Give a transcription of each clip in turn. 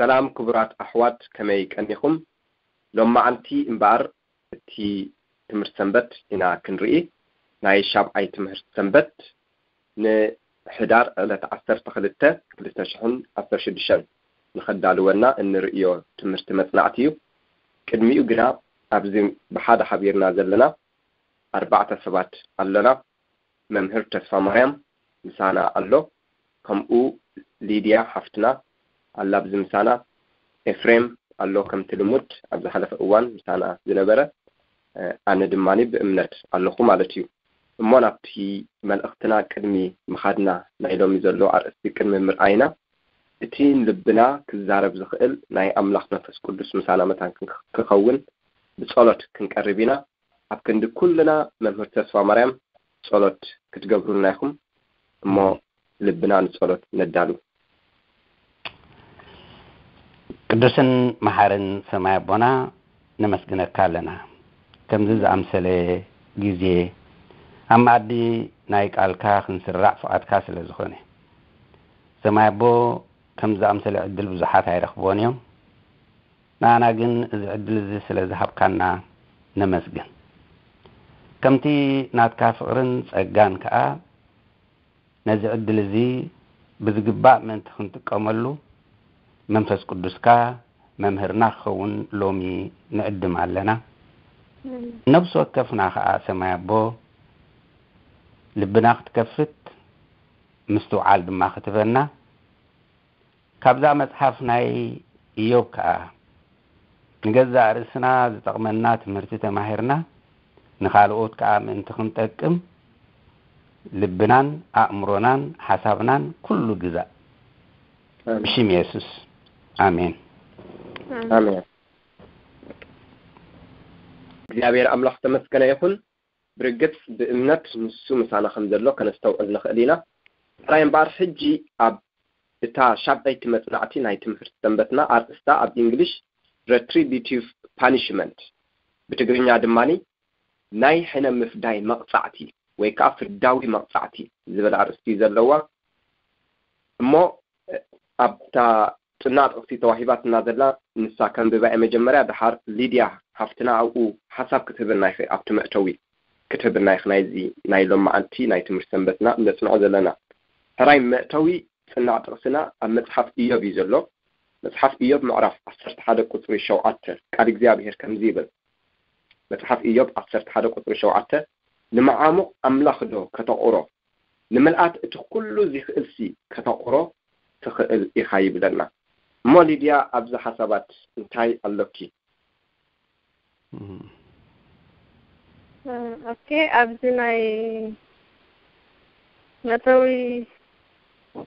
ሰላም ክቡራት ኣሕዋት፣ ከመይ ቀኒኹም? ሎማዓንቲ እምበኣር እቲ ትምህርቲ ሰንበት ኢና ክንርኢ። ናይ ሻብዓይ ትምህርቲ ሰንበት ንሕዳር ዕለት ዓሰርተ ክልተ ክልተ ሽሕን ዓሰርተ ሽዱሽተን ንኸዳልወና እንርእዮ ትምህርቲ መጽናዕቲ እዩ። ቅድሚኡ ግና ኣብዚ ብሓደ ሓቢርና ዘለና ኣርባዕተ ሰባት ኣለና። መምህር ተስፋ ማርያም ምሳና ኣሎ፣ ከምኡ ሊድያ ሓፍትና ኣላ ኣብዚ ምሳና፣ ኤፍሬም ኣሎ ከምቲ ልሙድ ኣብ ዝሓለፈ እዋን ምሳና ዝነበረ፣ ኣነ ድማ ብእምነት ኣለኹ ማለት እዩ። እሞ ናብቲ መልእኽትና ቅድሚ ምኻድና፣ ናይ ሎሚ ዘሎ ኣርእስቲ ቅድሚ ምርኣይና፣ እቲ ንልብና ክዛረብ ዝኽእል ናይ ኣምላኽ መንፈስ ቅዱስ ምሳና መታን ክኸውን ብጸሎት ክንቀርብ ኢና። ኣብ ክንዲ ኩልና መምህር ተስፋ ማርያም ጸሎት ክትገብሩልና ኢኹም። እሞ ልብና ንጸሎት ነዳሉ። ቅዱስን መሓርን ሰማይ ኣቦና፣ ነመስግነካ ኣለና። ከምዚ ዝኣምሰለ ግዜ ኣብ መኣዲ ናይ ቃልካ ክንስራዕ ፍቓድካ ስለ ዝኾነ፣ ሰማይ ኣቦ፣ ከምዚ ዝኣምሰለ ዕድል ብዙሓት ኣይረኽብዎን እዮም። ንኣና ግን እዚ ዕድል እዚ ስለ ዝሃብካና ነመስግን። ከምቲ ናትካ ፍቕርን ጸጋን ከኣ፣ ነዚ ዕድል እዚ ብዝግባእ ምእንቲ ክንጥቀመሉ፣ መንፈስ ቅዱስካ መምህርና ክኸውን ሎሚ ንዕድም ኣለና። ነብሲ ወከፍና ከኣ፣ ሰማይ ኣቦ፣ ልብና ክትከፍት፣ ምስትውዓል ድማ ክትበና፣ ካብዛ መጽሓፍ ናይ ኢዮብ ከኣ ንገዛእ ርእስና ዝጠቕመና ትምህርቲ ተማሂርና፣ ንኻልኦት ከኣ ምእንቲ ክንጠቅም፣ ልብናን ኣእምሮናን ሓሳብናን ኩሉ ግዛእ። ኣሜን። ብሽም የሱስ፣ ኣሜን። ኣሜን። እግዚኣብሔር ኣምላኽ ተመስገነ ይኹን። ብርግጽ ብእምነት ንሱ ምሳና ከም ዘሎ ከነስተውዕል ንኽእል ኢና። ጥራይ እምበኣር፣ ሕጂ ኣብ እታ ሻብዐይቲ መጽናዕቲ ናይ ትምህርቲ ሰንበትና፣ ኣርእስታ ኣብ እንግሊሽ Retributive Punishment፣ ብትግርኛ ድማ ናይ ሕነ ምፍዳይ መቕጻዕቲ ወይ ከኣ ፍርዳዊ መቕጻዕቲ ዝብል ኣርእስቲ እዩ ዘለዋ። እሞ ኣብታ ጽናዕ ጥቕሲ ተዋሂባትና ዘላ ንሳ ከንብባ እየ መጀመርያ፣ ደሓር ሊድያ ሓፍትና ኣብኡ ሓሳብ ክትህበና ኢኺ፣ ኣብቲ መእተዊ ክትህብና ኢኺ ናይዚ ናይ ሎማዓንቲ ናይ ትምህርቲ ሰንበትና እነጽንዖ ዘለና። ሕራይ መእተዊ ጽናዕ ጥቕስና ኣብ መጽሓፍ ኢዮብ እዩ ዘሎ። መጽሓፍ ኢዮብ ምዕራፍ ዓሰርተ ሓደ ቁጽሪ ሸውዓተ፣ ቃል እግዚኣብሔር ከምዚ ይብል። መጽሓፍ ኢዮብ ዓሰርተ ሓደ ቁጽሪ ሸውዓተ፣ "ንመዓሙቕ ኣምላኽ ዶ ከተቑሮ? ንምልኣት እቲ ኩሉ ዚኽእልሲ ከተቑሮ ትኽእል ኢኻ?" ይብለና። እሞ ሊድያ፣ ኣብዚ ሓሳባት እንታይ ኣሎኪ? እም። እ፣ ኦኬ፣ ኣብዚ ናይ መእተዊ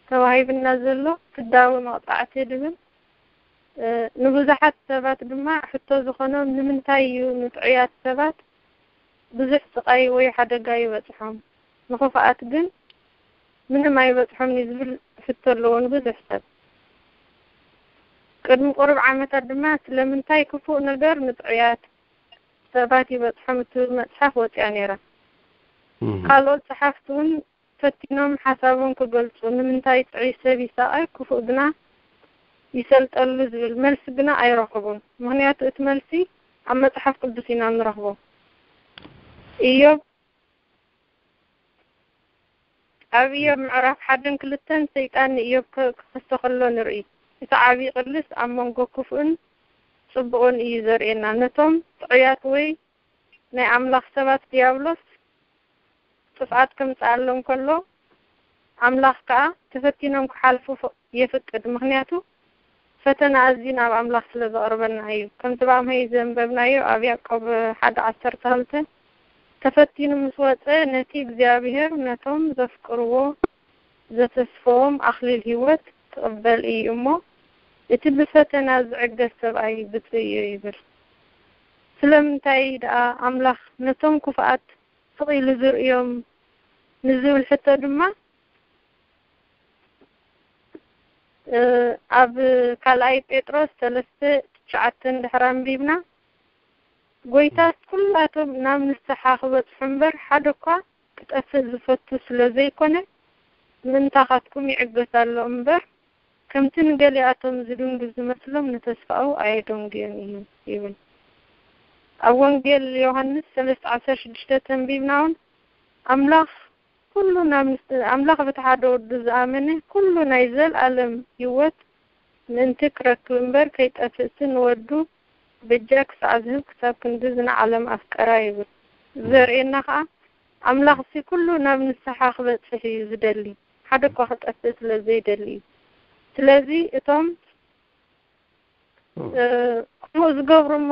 ተዋሂብና ዘሎ ፍዳዊ መቕጻዕቲ ድብል፣ እ፣ ንብዙሓት ሰባት ድማ ሕቶ ዝኾኖም፣ ንምንታይ እዩ ንጥዑያት ሰባት ብዙሕ ስቓይ ወይ ሓደጋ ይበጽሖም፣ ንኽፉኣት ግን ምንም ኣይበጽሖምን እዩ ዝብል ሕቶ ኣለዎ ንብዙሕ ሰብ። ቅድሚ ቁሩብ ዓመታት ድማ ስለምንታይ ክፉእ ነገር ንጥዑያት ሰባት ይበጽሖም እትብል መጽሓፍ ወጺኣ ነይራ። እም። ካልኦት ጸሓፍቲ እውን ፈቲኖም ሓሳቦም ክገልጹ፣ ንምንታይ ጥዑይ ሰብ ይሳቐ፣ ክፉእ ግና ይሰልጠሉ ዝብል መልሲ ግና ኣይረኸቡን። ምኽንያቱ እቲ መልሲ ኣብ መጽሓፍ ቅዱስ ኢና ንረኽቦ። ኢዮብ፣ ኣብ ኢዮብ ምዕራፍ ሓደን ክልተን ሰይጣን ንኢዮብ ከ-፣ ክኸሶ ከሎ ንርኢ። እቲ ዓቢ ቅልስ ኣብ መንጎ ክፉእን ጽቡቕን እዩ ዘርእየና። ነቶም ጥዑያት ወይ ናይ ኣምላኽ ሰባት ዲያብሎስ ጥፍኣት ከምጽኣሎም ከሎ፣ ኣምላኽ ከኣ ተፈቲኖም ክሓልፉ ፍ-፣ የፍቅድ። ምኽንያቱ ፈተና ኣዝዩ ናብ ኣምላኽ ስለ ዘቕርበና እዩ። ከምቲ ብኣምሀይ ዘንበብናዮ ኣብ ያዕቆብ ሓደ ዓሰርተ ክልተ፣ "ተፈቲኑ ምስ ወጸ፣ ነቲ እግዚኣብሔር ነቶም ዘፍቅርዎ ዘተስፈዎም ኣኽሊል ህይወት ክቕበል እዩ እሞ፣ እቲ ብፈተና ዝዕገስ ሰብኣይ ብፁዕ እዩ" ይብል። ስለምንታይ ደኣ ኣምላኽ ነቶም ክፉኣት ስቕ ኢሉ ዝርእዮም ንዝብል ሕቶ ድማ፣ እ፣ ኣብ ካልኣይ ጴጥሮስ ሰለስተ ትሽዓተ እንድሕር ኣንቢብና፣ "ጎይታስ ኩላቶም ናብ ንስሓ ክበጽሑ እምበር፣ ሓደ እኳ ክጠፍእ ዝፈቱ ስለ ዘይኮነ፣ ምእንታኻትኩም ይዕገስ ኣሎ እምበር፣ ከምቲ ንገሊኣቶም ዝድንጉ ዝመስሎም ንተስፋኡ ኣየደንጉዮን እዩ ይብል። ኣብ ወንጌል ዮሃንስ ሰለስተ ዓሰርተ ሽዱሽተ ተንቢብና እውን ኣምላኽ ኩሉ ናብ ምስ-፣ ኣምላኽ በቲ ሓደ ወዱ ዝኣመነ ኩሉ ናይ ዘልኣለም ህይወት ምእንቲ ክረክብ እምበር ከይጠፍእሲ ንወዱ በጃ ክሳዕ ዝህብ ክሳብ ክንድዚ ንዓለም ኣፍቀራ ይብል። ዘርእየና ከኣ ኣምላኽሲ ኩሉ ናብ ንስሓ ክበጽሕ እዩ ዝደሊ፣ ሓደ እኳ ክጠፍእ ስለ ዘይደሊ እዩ። ስለዚ እቶም እ፣ ክፉእ ዝገብሩ እሞ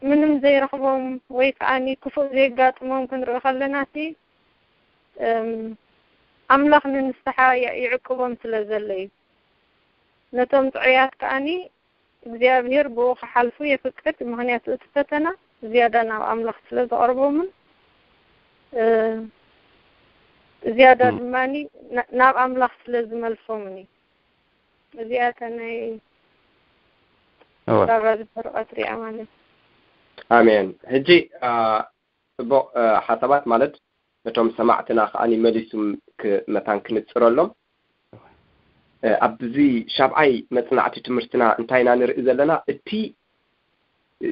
ምንም ዘይረኽቦም ወይ ከዓኒ ክፉእ ዘይጋጥሞም ክንርኢ ከለና፣ እቲ እም፣ ኣምላኽ ንንስሓ ይ-፣ ይዕቅቦም ስለ ዘሎ እዩ። ነቶም ጥዑያት ከዓኒ እግዚኣብሔር ብኡ ክሓልፉ የፍቅድ። ምኽንያቱ እቲ ፈተና ዝያዳ ናብ ኣምላኽ ስለ ዘቐርቦምን እ፣ ዝያዳ እም። ድማኒ ና-፣ ናብ ኣምላኽ ስለ ዝመልሶምን እዩ። እዚኣ እታ ናይ እወ። ባባ ዝፈረቐት ሪኣ ማለት። ኣሜን። ሕጂ፣ አ፣ ጽቡቕ፣ አ፣ ሓሳባት ማለት ነቶም ሰማዕትና ከኣ መሊሱም ክ-፣ መታን ክንጽረሎም። እ፣ ኣብዚ ሻብዓይ መጽናዕቲ ትምህርትና እንታይ ኢና ንርኢ ዘለና? እቲ፣ እ፣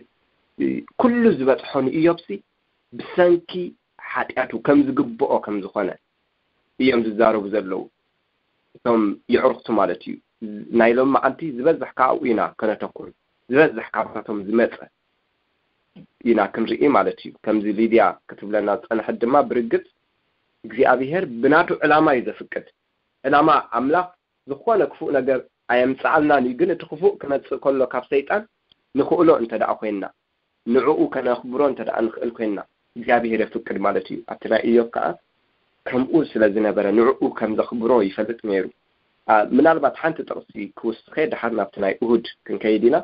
እ፣ ኩሉ ዝበጽሖ ንኢዮብሲ ብሰንኪ ሓጢኣቱ ከም ዝግብኦ ከም ዝኾነ እዮም ዝዛረቡ ዘለዉ። እቶም የዕሩኽቱ ማለት እዩ። ናይ ሎም መዓልቲ ዝበዝሕ ካብኡ ኢና ከነተኩር። ዝበዝሕ ካብታቶም ዝመጸ ኢና ክንርኢ ማለት እዩ። ከምዚ ሊድያ ክትብለና ዝጸንሐት ድማ ብርግጽ እግዚኣብሄር ብናቱ ዕላማ እዩ ዘፍቅድ። ዕላማ ኣምላኽ ዝኾነ ክፉእ ነገር ኣየምጽኣልናን እዩ። ግን እቲ ክፉእ ክመጽእ ከሎ ካብ ሰይጣን ንኽእሎ እንተ ደኣ ኮይንና፣ ንዕኡ ከነኽብሮ እንተ ደኣ ንኽእል ኮይንና፣ እግዚኣብሄር የፍቅድ ማለት እዩ። ኣብቲ ናይ ኢዮብ ከኣ ከምኡ ስለ ዝነበረ ንዕኡ ከም ዘኽብሮ ይፈልጥ ነይሩ። አ፣ ምናልባት ሓንቲ ጥቕሲ ክውስኸ ድሓር ናብቲ ናይ እሁድ ክንከይድ ኢና።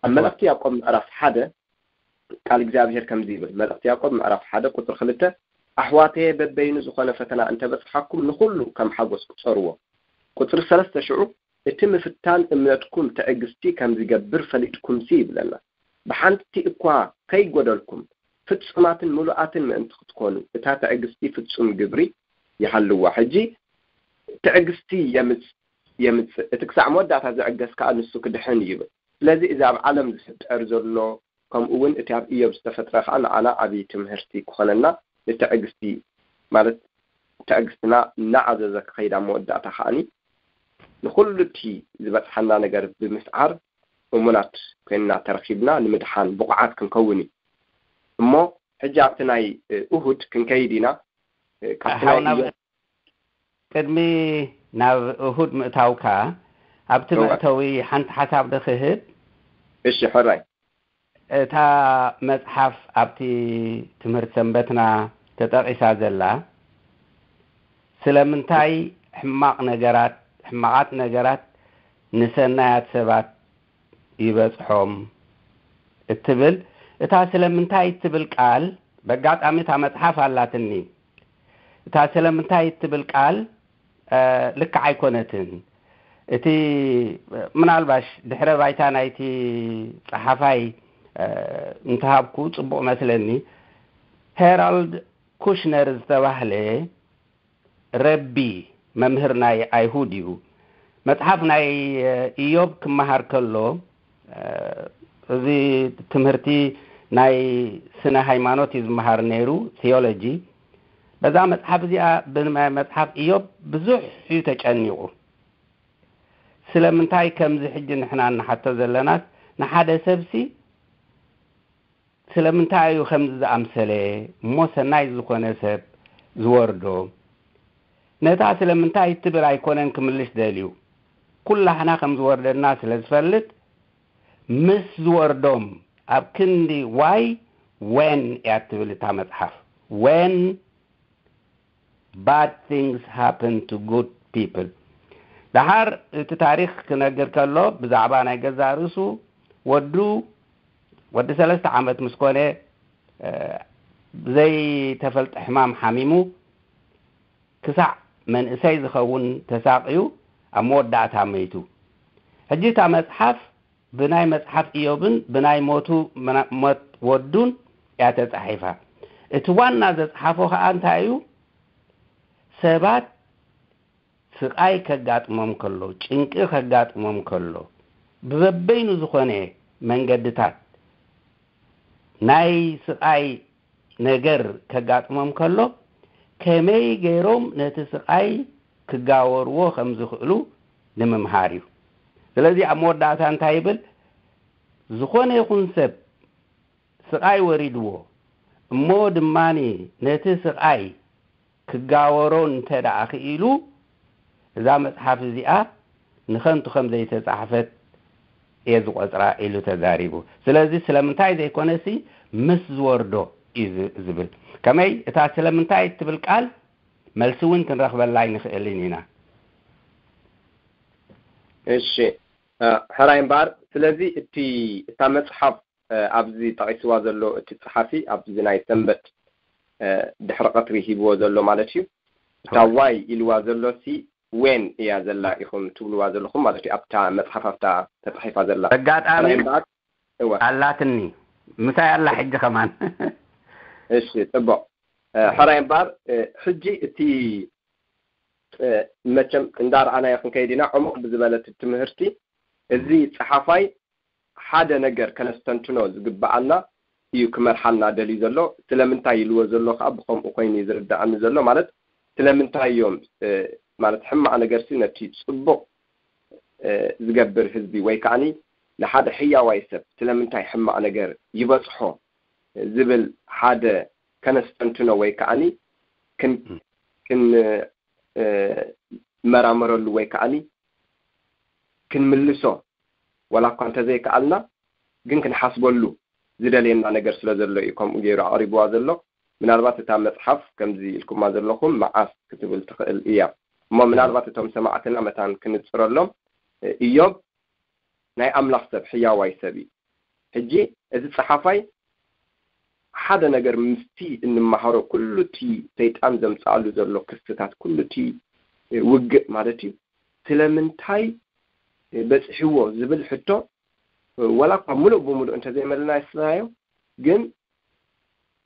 ኣብ መልእኽቲ ያዕቆብ ምዕራፍ ሓደ ቃል እግዚኣብሄር ከምዚ ይብል። መልእኽቲ ያዕቆብ ምዕራፍ ሓደ ቁጽሪ ክልተ፣ ኣሕዋተየ በበይኑ ዝኾነ ፈተና እንተ በጽሓኩም ንኹሉ ከም ሓጎስ ቁጸርዎ። ቁጽሪ ሰለስተ ሽዑ፣ እቲ ምፍታን እምነትኩም ትዕግስቲ ከም ዝገብር ፈሊጥኩምሲ ይብለና። ብሓንቲ እኳ ከይጎደልኩም ፍጹማትን ምሉኣትን ምእንቲ ክትኮኑ እታ ትዕግስቲ ፍጹም ግብሪ ይሃልዋ። ሕጂ ትዕግስቲ የምጽ-፣ የምጽእ። እቲ ክሳዕ መወዳእታ ዝዕገስ ከኣ ንሱ ክድሕን እዩ ይብል። ስለዚ እዚ ኣብ ዓለም ዝፍጠር ዘሎ ከምኡ እውን እቲ ኣብ ኢዮብ ዝተፈጥረ ከኣ ንዓና ዓብዪ ትምህርቲ ክኾነና፣ ንትዕግስቲ ማለት ትዕግስትና እናዓዘዘ ክኸይድ ኣብ መወዳእታ ከኣኒ ንኹሉ እቲ ዝበጽሓና ነገር ብምስዓር እሙናት ኮይንና ተረኺብና ንምድሓን ብቑዓት ክንከውን እዩ። እሞ ሕጂ ኣብቲ ናይ፣ እ፣ እሁድ ክንከይድ ኢና። እ፣ ካብቲ ናይ ሓው ናብ ኢዮብ ቅድሚ ናብ እሁድ ምእታውካ ኣብቲ እወ። መእተዊ ሓንቲ ሓሳብ ዶ ክህብ? እሺ፣ ሕራይ። እታ መጽሓፍ ኣብቲ ትምህርቲ ሰንበትና ተጠቒሳ ዘላ፣ ስለምንታይ ሕማቕ ነገራት፣ ሕማቓት ነገራት ንሰናያት ሰባት ይበጽሖም እትብል፣ እታ ስለምንታይ እትብል ቃል፣ በጋጣሚ እታ መጽሓፍ ኣላትኒ። እታ ስለምንታይ እትብል ቃል፣ እ፣ ልክዕ ኣይኮነትን። እቲ፣ ምናልባሽ ድሕረ ባይታ ናይቲ ጸሓፋይ፣ እ፣ እንተሃብኩ ጽቡቕ መስለኒ። ሄራልድ ኩሽነር ዝተባህለ ረቢ፣ መምህር ናይ ኣይሁድ እዩ። መጽሓፍ ናይ፣ እ፣ ኢዮብ ክመሃር ከሎ፣ እ፣ እዚ ትምህርቲ ናይ ስነ ሃይማኖት እዩ ዝመሃር ነይሩ፣ ቲዮሎጂ። በዛ መጽሓፍ እዚኣ፣ ብመጽሓፍ ኢዮብ ብዙሕ እዩ ተጨኒቑ። ስለምንታይ ከምዚ ሕጂ ንሕና እንሓቶ ዘለናስ፣ ንሓደ ሰብሲ ስለምንታይ እዩ ከምዚ ዝኣምሰለ እሞ ሰናይ ዝኾነ ሰብ ዝወርዶ? ነታ ስለምንታይ እትብል ኣይኮነን ክምልሽ ደልዩ። ኩላህና ከም ዝወርደና ስለ ዝፈልጥ፣ ምስ ዝወርዶም ኣብ ክንዲ ዋይ፣ ወን እያ እትብል እታ መጽሓፍ። When bad things happen to good people። ደሓር እቲ ታሪኽ ክነግር ከሎ፣ ብዛዕባ ናይ ገዛእ ርእሱ ወዱ፣ ወዲ ሰለስተ ዓመት ምስ ኮነ፣ እ፣ ብዘይተፈልጠ ሕማም ሓሚሙ፣ ክሳዕ መንእሰይ ዝኸውን ተሳቕዩ፣ ኣብ መወዳእታ መይቱ። ሕጂ እታ መጽሓፍ ብናይ መጽሓፍ ኢዮብን ብናይ ሞቱ፣ ምና-፣ ሞት ወዱን እያ ተጻሒፋ። እቲ ዋና ዘጽሓፎ ኸኣ እንታይ እዩ? ሰባት ስቓይ ከጋጥሞም ከሎ፣ ጭንቂ ከጋጥሞም ከሎ፣ ብበበይኑ ዝኾነ መንገድታት ናይ ስቓይ ነገር ከጋጥሞም ከሎ፣ ከመይ ገይሮም ነቲ ስቓይ ክጋወርዎ ከም ዝኽእሉ ንምምሃር እዩ። ስለዚ ኣብ መወዳእታ እንታይ ይብል? ዝኾነ ይኹን ሰብ ስቓይ ወሪድዎ፣ እሞ ድማ ነቲ ስቓይ ክጋወሮ እንተ ደኣ ክኢሉ፣ እዛ መጽሓፍ እዚኣ ንኸንቱ ከም ዘይተጻሕፈት እየ ዝቖጽራ ኢሉ ተዛሪቡ። ስለዚ ስለምንታይ ዘይኮነሲ ምስ ዝወርዶ እዩ ዝ-፣ ዝብል። ከመይ እታ ስለምንታይ እትብል ቃል መልሲ እውን ክንረኽበላ ኣይንኽእልን ኢና። እሺ፣ እ፣ ሕራይ እምበኣር፣ ስለዚ እቲ፣ እታ መጽሓፍ፣ እ፣ ኣብዚ ጠቒስዋ ዘሎ እቲ ጸሓፊ፣ ኣብዚ ናይ ሰንበት፣ እ፣ ድሕሪ ቀትሪ ሂብዎ ዘሎ ማለት እዩ። እታ ዋይ ኢልዋ ዘሎ ሲ ዌን እያ ዘላ ኢኹም ትብልዋ ዘለኹም ማለት እዩ። ኣብታ መጽሓፍ ኣብታ ተጻሒፋ ዘላ። ኣጋጣሚ ሕራይ እምበኣር፣ እወ። ኣላትኒ። ምሳይ ኣላ ሕጂ ከማን። እሺ፣ ጽቡቕ። እ፣ ሕራይ እምበኣር፣ እ፣ ሕጂ እቲ፣ እ፣ መቸም እንዳረኣናዮ ክንከይድ ኢና፣ ዕሙቕ ብዝበለ እቲ ትምህርቲ፣ እዚ ጸሓፋይ ሓደ ነገር ከነስተንትኖ ዝግብኣና እዩ ክመርሓና ደልዩ ዘሎ። ስለምንታይ ኢልዎ ዘሎ ከኣ ብኸምኡ ኮይኑ እዩ ዝርድኣኒ ዘሎ። ማለት ስለምንታይ እዮም፣ እ፣ ማለት ሕማቕ ነገርሲ ነቲ ጽቡቕ፣ እ፣ ዝገብር ህዝቢ ወይ ከዓኒ ንሓደ ሕያዋይ ሰብ ስለምንታይ ሕማቕ ነገር ይበጽሖ ዝብል ሓደ ከነስተንትኖ ወይ ከዓኒ ክን-፣ ም። ክን-፣ እ፣ መራመረሉ ወይ ከዓኒ ክንምልሶ ዋላ እኳ እንተዘይከኣልና፣ ግን ክንሓስበሉ ዝደልየና ነገር ስለ ዘሎ እዩ ከምኡ ገይሩ ኣቕሪብዋ ዘሎ። ምናልባት እታ መጽሓፍ ከምዚ ኢልኩማ ዘለኹም መዓስ ክትብል ትኽእል እያ። እሞ ምናልባት እቶም ሰማዕትና መታን ክንጽረሎም፣ እ፣ ኢዮብ ናይ ኣምላኽ ሰብ፣ ሕያዋይ ሰብ እዩ። ሕጂ እዚ ጸሓፋይ ሓደ ነገር ምስቲ እንመሃሮ፣ ኩሉ እቲ ሰይጣን ዘምጽኣሉ ዘሎ ክስታት፣ ኩሉ እቲ ውግእ ማለት እዩ፣ ስለምንታይ በጽሕዎ ዝብል ሕቶ፣ ወላ እኳ ምሉእ ብምሉእ እንተዘይመለስናዮ፣ ግን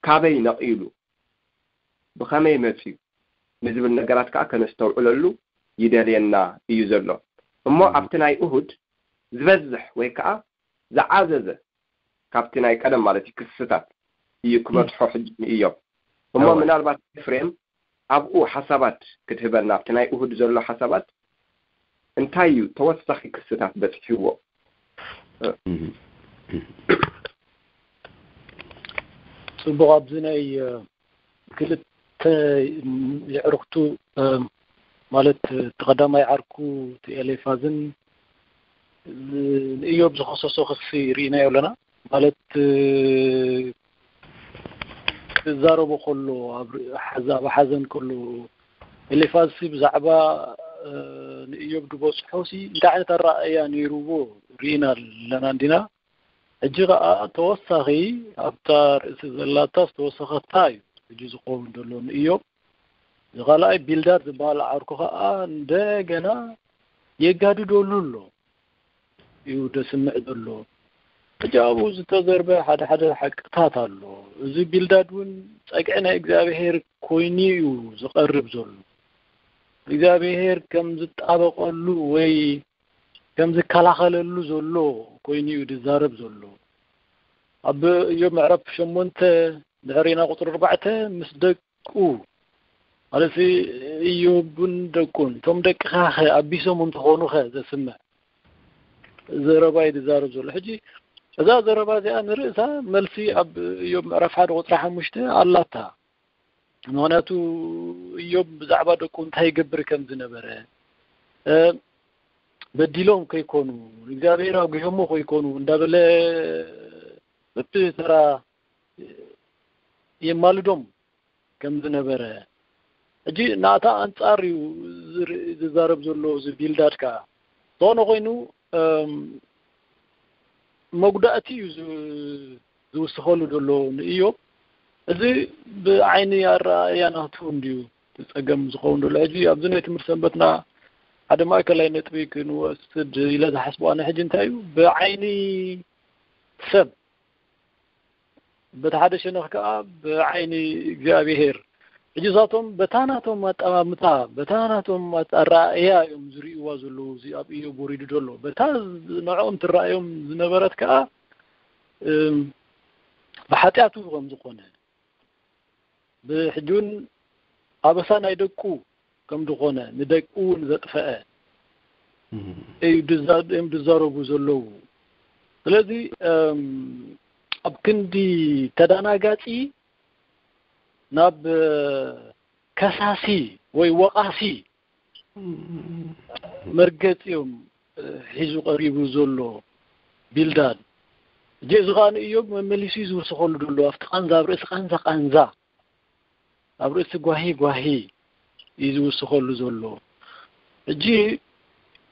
ካበይ ነቒሉ፣ ብኸመይ መጽዩ ንዝብል ነገራት ከኣ ከነስተውዕለሉ ይደልየና እዩ ዘሎ። እሞ ኣብቲ ናይ እሁድ ዝበዝሕ ወይ ከኣ ዝዓዘዘ ካብቲ ናይ ቀደም ማለት እዩ ክስታት እዩ ክበጽሖ ሕጂ ንእዮብ። እሞ እወ። ምናልባት ኤፍሬም ኣብኡ ሓሳባት ክትህበና፣ ኣብቲ ናይ እሁድ ዘሎ ሓሳባት እንታይ እዩ ተወሳኺ ክስታት በጽሕዎ? እህ። ጽቡቕ፣ ኣብዚ ናይ፣ እ፣ ክልተ የዕሩኽቱ፣ እ፣ ማለት እቲ ቀዳማይ ዓርኩ እቲ ኤሌፋዝን፣ እ፣ ንእዮብ ዝኸሰሶ ክሲ ርኢናዮ ኣለና። ማለት፣ እ፣ ክዛረቦ ከሎ፣ ኣብ ር-፣ ሓዘ-፣ ኣብ ሓዘን ከሎ፣ ኤሌፋዝ ሲ ብዛዕባ፣ እ፣ ንእዮብ ዝበጽሖ ሲ እንታይ ዓይነት ኣረኣእያ ነይርዎ ርኢና ኣለና እንዲና? ሕጂ ኸኣ ተወሳኺ ኣብታ ርእሲ ዘላታ ዝተወሰኸታ እዩ ሕጂ ዝኸውን ዘሎ ንእዮብ። እዚ ካልኣይ ቢልዳድ ዝበሃል ዓርኩ ኸኣ እንደገና የጋድደሉ ኣሎ እዩ ደስምዕ ዘሎ። ሕጂ ኣብኡ ዝተዘርበ ሓደ ሓደ ሓቅታት ኣሎ። እዚ ቢልዳድ እውን ጸግዒ ናይ እግዚኣብሔር ኮይኑ እዩ ዝቐርብ ዘሎ። እግዚኣብሔር ከም ዝጣበቐሉ ወይ ከም ዝከላኸለሉ ዘሎ ኮይኑ እዩ ዝዛረብ ዘሎ። ኣብ እዮብ ምዕራፍ ሸሞንተ ድሕሪና ቁጽሪ ኣርባዕተ ምስ ደቁ፣ ማለት እዮብን ደቁን፣ እቶም ደቅኻ ኸ ኣቢሶም እንተኾኑ ኸ ዘስምዕ ዘረባ እዩ ዝዛረብ ዘሎ። ሕጂ እዛ ዘረባ እዚኣ ንርእሳ መልሲ ኣብ እዮብ ምዕራፍ ሓደ ቁጽሪ ሓሙሽተ ኣላታ። ምኽንያቱ እዮብ ብዛዕባ ደቁ እንታይ ይገብር ከም ዝነበረ፣ እ፣ በዲሎም ከይኮኑ፣ ንእግዚኣብሔር ኣጉሆሞ ከይኮኑ እንዳበለ በብተራ የማልዶም ከም ዝነበረ፣ ሕጂ ናታ ኣንጻር እዩ ዝር-፣ ዝዛረብ ዘሎ እዚ ቢልዳድ ከኣ። ዝኾነ ኮይኑ፣ እም፣ መጉዳእቲ እዩ ዝ-፣ ዝውስኸሉ ዘሎ ንእዮብ። እዚ ብዓይኒ ኣረኣእያ ናቱ እንድዩ እቲ ጸገም ዝኸውን ዘሎ። ሕጂ ኣብዚ ናይ ትምህርቲ ሰንበትና ሓደ ማእከላይ ነጥቢ ክንወስድ ኢለ ዝሓስቦ ኣነ ሕጂ እንታይ እዩ፣ ብዓይኒ ሰብ፣ በቲ ሓደ ሸነኽ ከኣ ብዓይኒ እግዚኣብሄር ሕጂ እሳቶም በታ ናቶም ኣጠማምታ፣ በታ ናቶም ኣት-፣ ኣረኣእያ እዮም ዝርእይዋ ዘለዉ፣ እዚ ኣብ ኢዮብ ወሪዱ ዘሎ። በታ ዝ-፣ ንዕኦም ትረኣዮም ዝነበረት ከኣ፣ እም፣ ብሓጢኣቱ ከም ዝኾነ፣ ብሕጂ እውን ኣበሳ ናይ ደቁ ከም ዝኾነ፣ ንደቁ እውን ዘጥፈአ እዩ ድዛ-፣ እዮም ድዛረቡ ዘለዉ። ስለዚ፣ እም፣ ኣብ ክንዲ ተዳናጋጺ ናብ፣ እ፣ ከሳሲ ወይ ወቓሲ መርገጺ እዮም፣ እ፣ ሒዙ ቀሪቡ ዘሎ ቢልዳድ። ሕጂ እዚ ኸኣ ንእዮብ መመሊሱ እዩ ዝውስኸሉ ዘሎ። ኣብቲ ቃንዛ፣ ኣብ ርእሲ ቃንዛ፣ ቃንዛ፣ ኣብ ርእሲ ጓሂ፣ ጓሂ እዩ ዝውስኸሉ ዘሎ። ሕጂ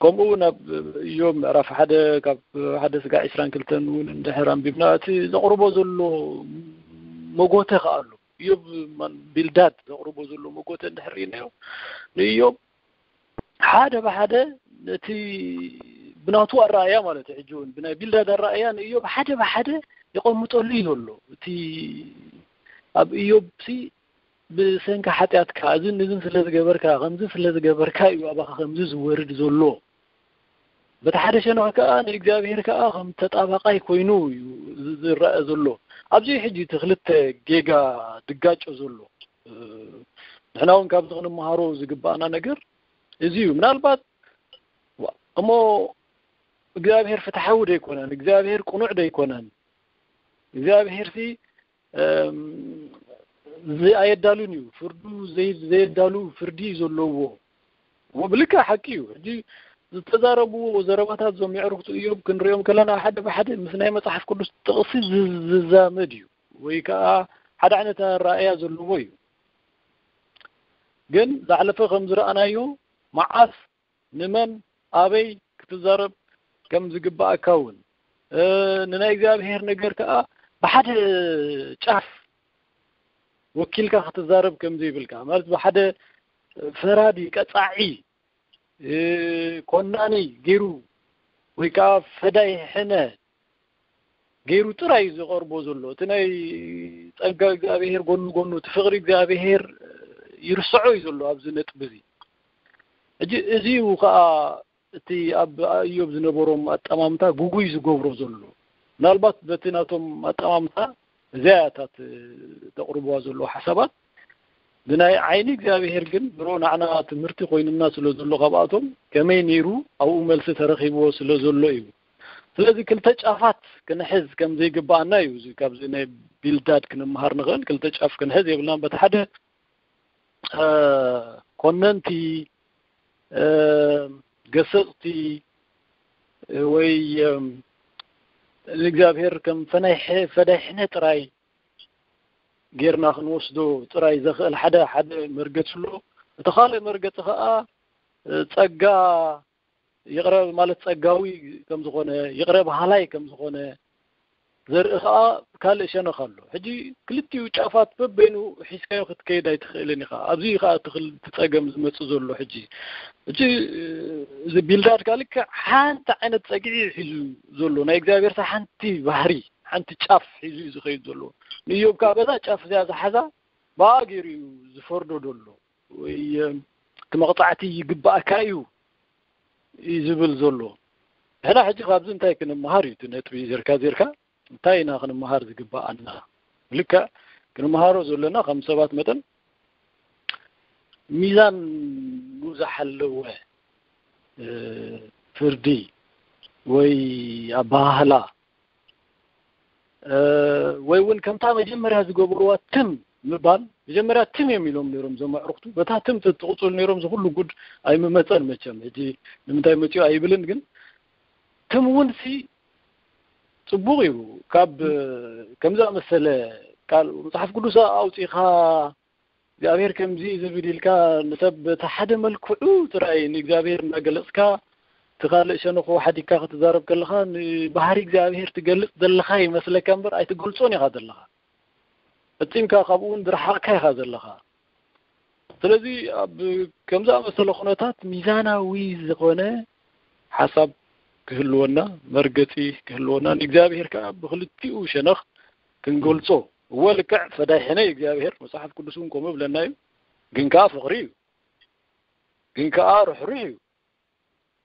ከምኡ እውን ኣብ እዮብ ምዕራፍ ሓደ ካብ ሓደ ስጋዕ ዕስራን ክልተን እውን እንድሕር ኣንቢብና፣ እቲ ዘቕርቦ ዘሎ መጎተ ከኣ ኣሎ። እዮብ ማን-፣ ቢልዳድ ዘቕርቦ ዘሎ መጎተ እንድሕር ርኢናዮ፣ ንእዮብ ሓደ ብሓደ ነቲ ብናቱ ኣረኣእያ ማለት እዩ። ሕጂ እውን ብናይ ቢልዳድ ኣረኣእያ ንእዮብ ሓደ ብሓደ የቐምጠሉ እዩ ዘሎ። እቲ ኣብ እዮብ ሲ ብሰንኪ ሓጢኣትካ እዝን እዝን ስለ ዝገበርካ፣ ከምዚ ስለ ዝገበርካ እዩ ኣባኻ ከምዚ ዝወርድ ዘሎ። በቲ ሓደ ሸነኽ ከኣ ንእግዚኣብሔር ከኣ ከም ተጣባቓይ ኮይኑ እዩ ዝ-፣ ዝረአ ዘሎ። ኣብዚ ሕጂ እቲ ክልተ ጌጋ ድጋጮ ዘሎ። እ፣ ንሕና እውን ካብዚ ክንመሃሮ ዝግባኣና ነገር እዚ እዩ። ምናልባት፣ ዋ፣ እሞ እግዚኣብሔር ፍትሓዊ ዶ ኣይኮነን? እግዚኣብሔር ቅኑዕ ዶ ኣይኮነን? እግዚኣብሔርሲ፣ እም፣ እዚ ኣየዳሉን እዩ። ፍርዱ ዘይ-፣ ዘየዳሉ ፍርዲ እዩ ዘለዎ። እሞ ብልክዕ ሓቂ እዩ። ሕጂ ዝተዛረብዎ ዘረባታት እዞም የዕሩኽቱ እዮብ ክንሪኦም ከለና ሓደ ብሓደ ምስ ናይ መጽሓፍ ቅዱስ ጥቕሲ ዝ-፣ ዝዛመድ እዩ። ወይ ከኣ ሓደ ዓይነት ኣረኣእያ ዘለዎ እዩ። ግን ዝሓለፈ ከም ዝረኣናዮ መዓስ ንመን ኣበይ ክትዛረብ ከም ዝግባኣካ እውን፣ እ፣ ንናይ እግዚኣብሔር ነገር ከኣ ብሓደ ጫፍ ወኪልካ ክትዛረብ ከም ዘይብልካ፣ ማለት ብሓደ ፈራዲ፣ ቀጻዒ፣ እ፣ ኮናኒ ገይሩ ወይ ከኣ ፈዳይ ሕነ ገይሩ ጥራይ እዩ ዝቐርቦ ዘሎ። እቲ ናይ ጸጋ እግዚኣብሔር ጎኑ ጎኑ፣ እቲ ፍቕሪ እግዚኣብሔር ይርስዖ እዩ ዘሎ ኣብዚ ነጥቢ እዚ። ሕጂ እዚ እዩ ከኣ እቲ ኣብ እዮብ ዝነበሮም ኣጠማምታ ግጉይ ዝገብሮ ዘሎ። ምናልባት በቲ ናቶም ኣጠማምታ እዚኣ እያ እታ ት-፣ ተቕርብዋ ዘለዉ ሓሳባት። ብናይ ዓይኒ እግዚኣብሔር ግን ድሮ ንዓና ትምህርቲ ኮይኑና ስለ ዘሎ ካብኣቶም ከመይ ነይሩ ኣብኡ መልሲ ተረኺብዎ ስለ ዘሎ እዩ። ስለዚ ክልተ ጫፋት ክንሕዝ ከም ዘይግባኣና እዩ። እዚ ካብዚ ናይ ቢልዳድ ክንምሃር ንኽእል። ክልተ ጫፍ ክንሕዝ የብልናን። በቲ ሓደ፣ እ፣ ኮነንቲ፣ እ፣ ገሰጽቲ ወይ፣ እም፣ ንእግዚኣብሔር ከም ፈናይ ሐ-፣ ፈዳይ ሕነ ጥራይ ጌርና ክንወስዶ ጥራይ ዘኽእል ሓደ፣ ሓደ መርገጽ ኣሎ። እቲ ካልእ መርገጺ ኸኣ፣ እ፣ ጸጋ ይቕረ ማለት ጸጋዊ ከም ዝኾነ፣ ይቕረ በሃላይ ከም ዝኾነ ዘርኢ ኸኣ ካልእ ሸነኽ ኣሎ። ሕጂ ክልቲኡ ጫፋት በበይኑ ሒዝካዮ ክትከይድ ኣይትኽእልን ኢኻ። ኣብዚ ኸኣ እቲ ክል-፣ እቲ ጸገም ዝመጽእ ዘሎ ሕጂ። ሕጂ፣ እ፣ እዚ ቢልዳድ ከኣ ልክዕ ሓንቲ ዓይነት ጸግዒ እዩ ሒዙ ዘሎ። ናይ እግዚኣብሔር ሓንቲ ባህሪ፣ ሓንቲ ጫፍ ሒዙ እዩ ዝኸይድ ዘሎ። ንእዮብ ከኣ በዛ ጫፍ እዚኣ ዝሓዛ ብኣ ገይሩ እዩ ዝፈርዶ ዘሎ። ወይ፣ እ፣ እቲ መቕጻዕቲ ይግባኣካ እዩ እዩ ዝብል ዘሎ። ንሕና ሕጂ ካብዚ እንታይ ክንመሃር እዩ? እቲ ነጥቢ ዜርካ ዜርካ እንታይ ኢና ክንመሃር ዝግባኣና? ልክዕ ክንመሃሮ ዘለና ከም ሰባት መጠን ሚዛን ዝሓለወ፣ እ፣ ፍርዲ ወይ ኣበሃህላ፣ እ፣ ወይ እውን ከምታ መጀመርያ ዝገበርዋ ትም ምባል፣ መጀመርያ ትም እዮም ኢሎም ነይሮም እዞም ኣዕሩኽቱ። በታ ትም ተትቕጽሉ ነይሮም፣ እዚ ኩሉ ጉድ ኣይምመጸን መቸም። ሕጂ ንምንታይ መጺኡ ኣይብልን፣ ግን ትም እውን ሲ ጽቡቕ እዩ። ካብ ከምዚ ዝኣመሰለ ቃል መጽሓፍ ቅዱስ ኣውጺእኻ እግዚኣብሔር ከምዚ እዩ ዝብል ኢልካ ንሰብ በቲ ሓደ መልክዑ ጥራይ ንእግዚኣብሔር እናገለጽካ፣ እቲ ካልእ ሸነኹ ሓዲግካ ክትዛረብ ከለኻ፣ ንባህሪ እግዚኣብሔር ትገልጽ ዘለኻ ይመስለካ እምበር ኣይትገልጾን ኢኻ ዘለኻ። ፈጺምካ ካብኡ እውን ዝረሓቕካ ኢኻ ዘለኻ። ስለዚ ኣብ ከም ዝኣመሰለ ኩነታት ሚዛናዊ ዝኾነ ሓሳብ ክህልወና፣ መርገጺ ክህልወና፣ ንእግዚኣብሔር ከኣ ብኽልቲኡ ሸነኽ ክንገልጾ። እወ፣ ልክዕ ፈዳይ ሕነ እዩ እግዚኣብሔር፣ መጽሓፍ ቅዱስ እውን ከምኡ ይብለና እዩ። ግን ከዓ ፍቕሪ እዩ። ግን ከዓ ርሕሩሕ እዩ።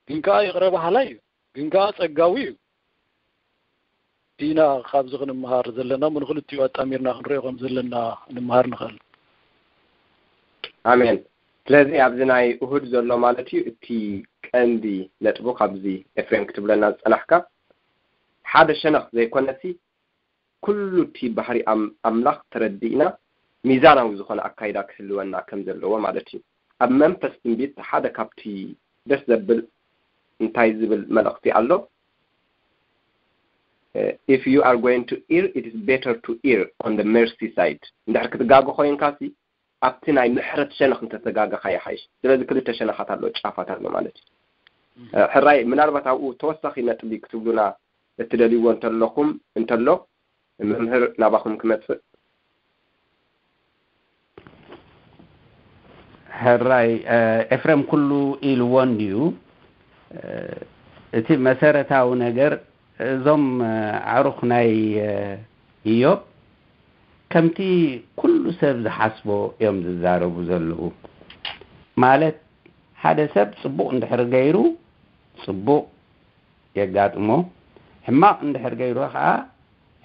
ግን ከዓ ይቕረ በሃላይ እዩ። ግን ከዓ ጸጋዊ እዩ። ኢና ካብዚ ክንመሃር ዘለና፣ እሞ ንኽልቲኡ ኣጣሚርና ክንሪኦ ከም ዘለና ንምሃር ንኽእል። ኣሜን። ስለዚ ኣብዚ ናይ እሁድ ዘሎ ማለት እዩ፣ እቲ ቀንዲ ነጥቡ ካብዚ ኤፍሬም ክትብለና ዝጸናሕካ፣ ሓደ ሸነኽ ዘይኮነሲ ኩሉ እቲ ባህሪ ኣም- ኣምላኽ ተረዲእና ሚዛናዊ ዝኾነ ኣካይዳ ክህልወና ከም ዘለዎ ማለት እዩ። ኣብ መንፈስ ትንቢት ሓደ ካብቲ ደስ ዘብል እንታይ ዝብል መልእኽቲ ኣሎ? If you are going to err, it is better to err on the mercy side. እንድሕር ክትጋገ ኮይንካ ሲ ኣብቲ ናይ ምሕረት ሸነኽ እንተተጋገኻ ይሓይሽ። ስለዚ ክልተ ሸነኻት ኣሎ፣ ጫፋት ኣሎ ማለት እዩ። ሕራይ ምናልባት ኣብኡ ተወሳኺ ነጥቢ ክትብሉና እትደልይዎ እንተለኹም እንተሎ መምህር ናባኹም ክመጽእ። ሕራይ ኤፍሬም ኩሉ ኢልዎ እንድዩ። እቲ መሰረታዊ ነገር እዞም ኣዕሩኽ ናይ ኢዮብ ከምቲ ኩሉ ሰብ ዝሓስቦ እዮም ዝዛረቡ ዘለዉ። ማለት ሓደ ሰብ ጽቡቕ እንድሕር ገይሩ ጽቡቕ የጋጥሞ፣ ሕማቕ እንድሕር ገይሩ ኸዓ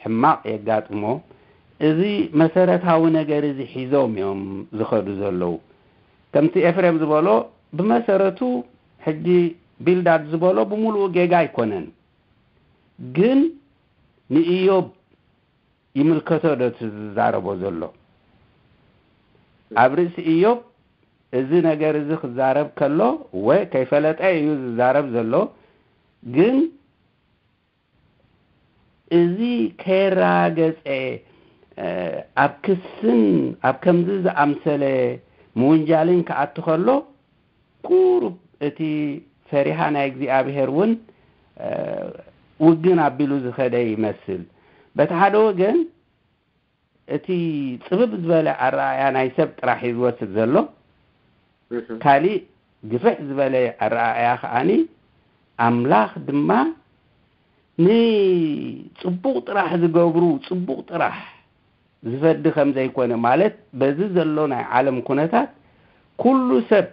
ሕማቕ የጋጥሞ። እዚ መሰረታዊ ነገር እዚ ሒዞም እዮም ዝኸዱ ዘለዉ። ከምቲ ኤፍሬም ዝበሎ ብመሰረቱ ሕጂ ቢልዳድ ዝበሎ ብምሉኡ ጌጋ ኣይኮነን። ግን ንኢዮብ ይምልከቶ ዶ እቲ ዝዛረቦ ዘሎ? ኣብ ርእሲ ኢዮብ እዚ ነገር እዚ ክዛረብ ከሎ ወይ ከይፈለጠ እዩ ዝዛረብ ዘሎ። ግን እዚ ከየረጋገጸ ኣብ ክስን ኣብ ከምዚ ዝኣምሰለ ምውንጃልን ክኣቱ ከሎ ቁሩብ እቲ ፈሪሃ ናይ እግዚኣብሔር እውን ውግን ኣቢሉ ዝኸደ ይመስል። በቲ ሓደ ወገን እቲ ጽብብ ዝበለ ኣረኣእያ ናይ ሰብ ጥራሕ እዩ ዝወስድ ዘሎ። ካሊእ ግፍሕ ዝበለ ኣረኣእያ ከዓኒ ኣምላኽ ድማ ንጽቡቕ ጥራሕ ዝገብሩ ጽቡቕ ጥራሕ ዝፈዲ ከም ዘይኮነ፣ ማለት በዚ ዘሎ ናይ ዓለም ኩነታት ኩሉ ሰብ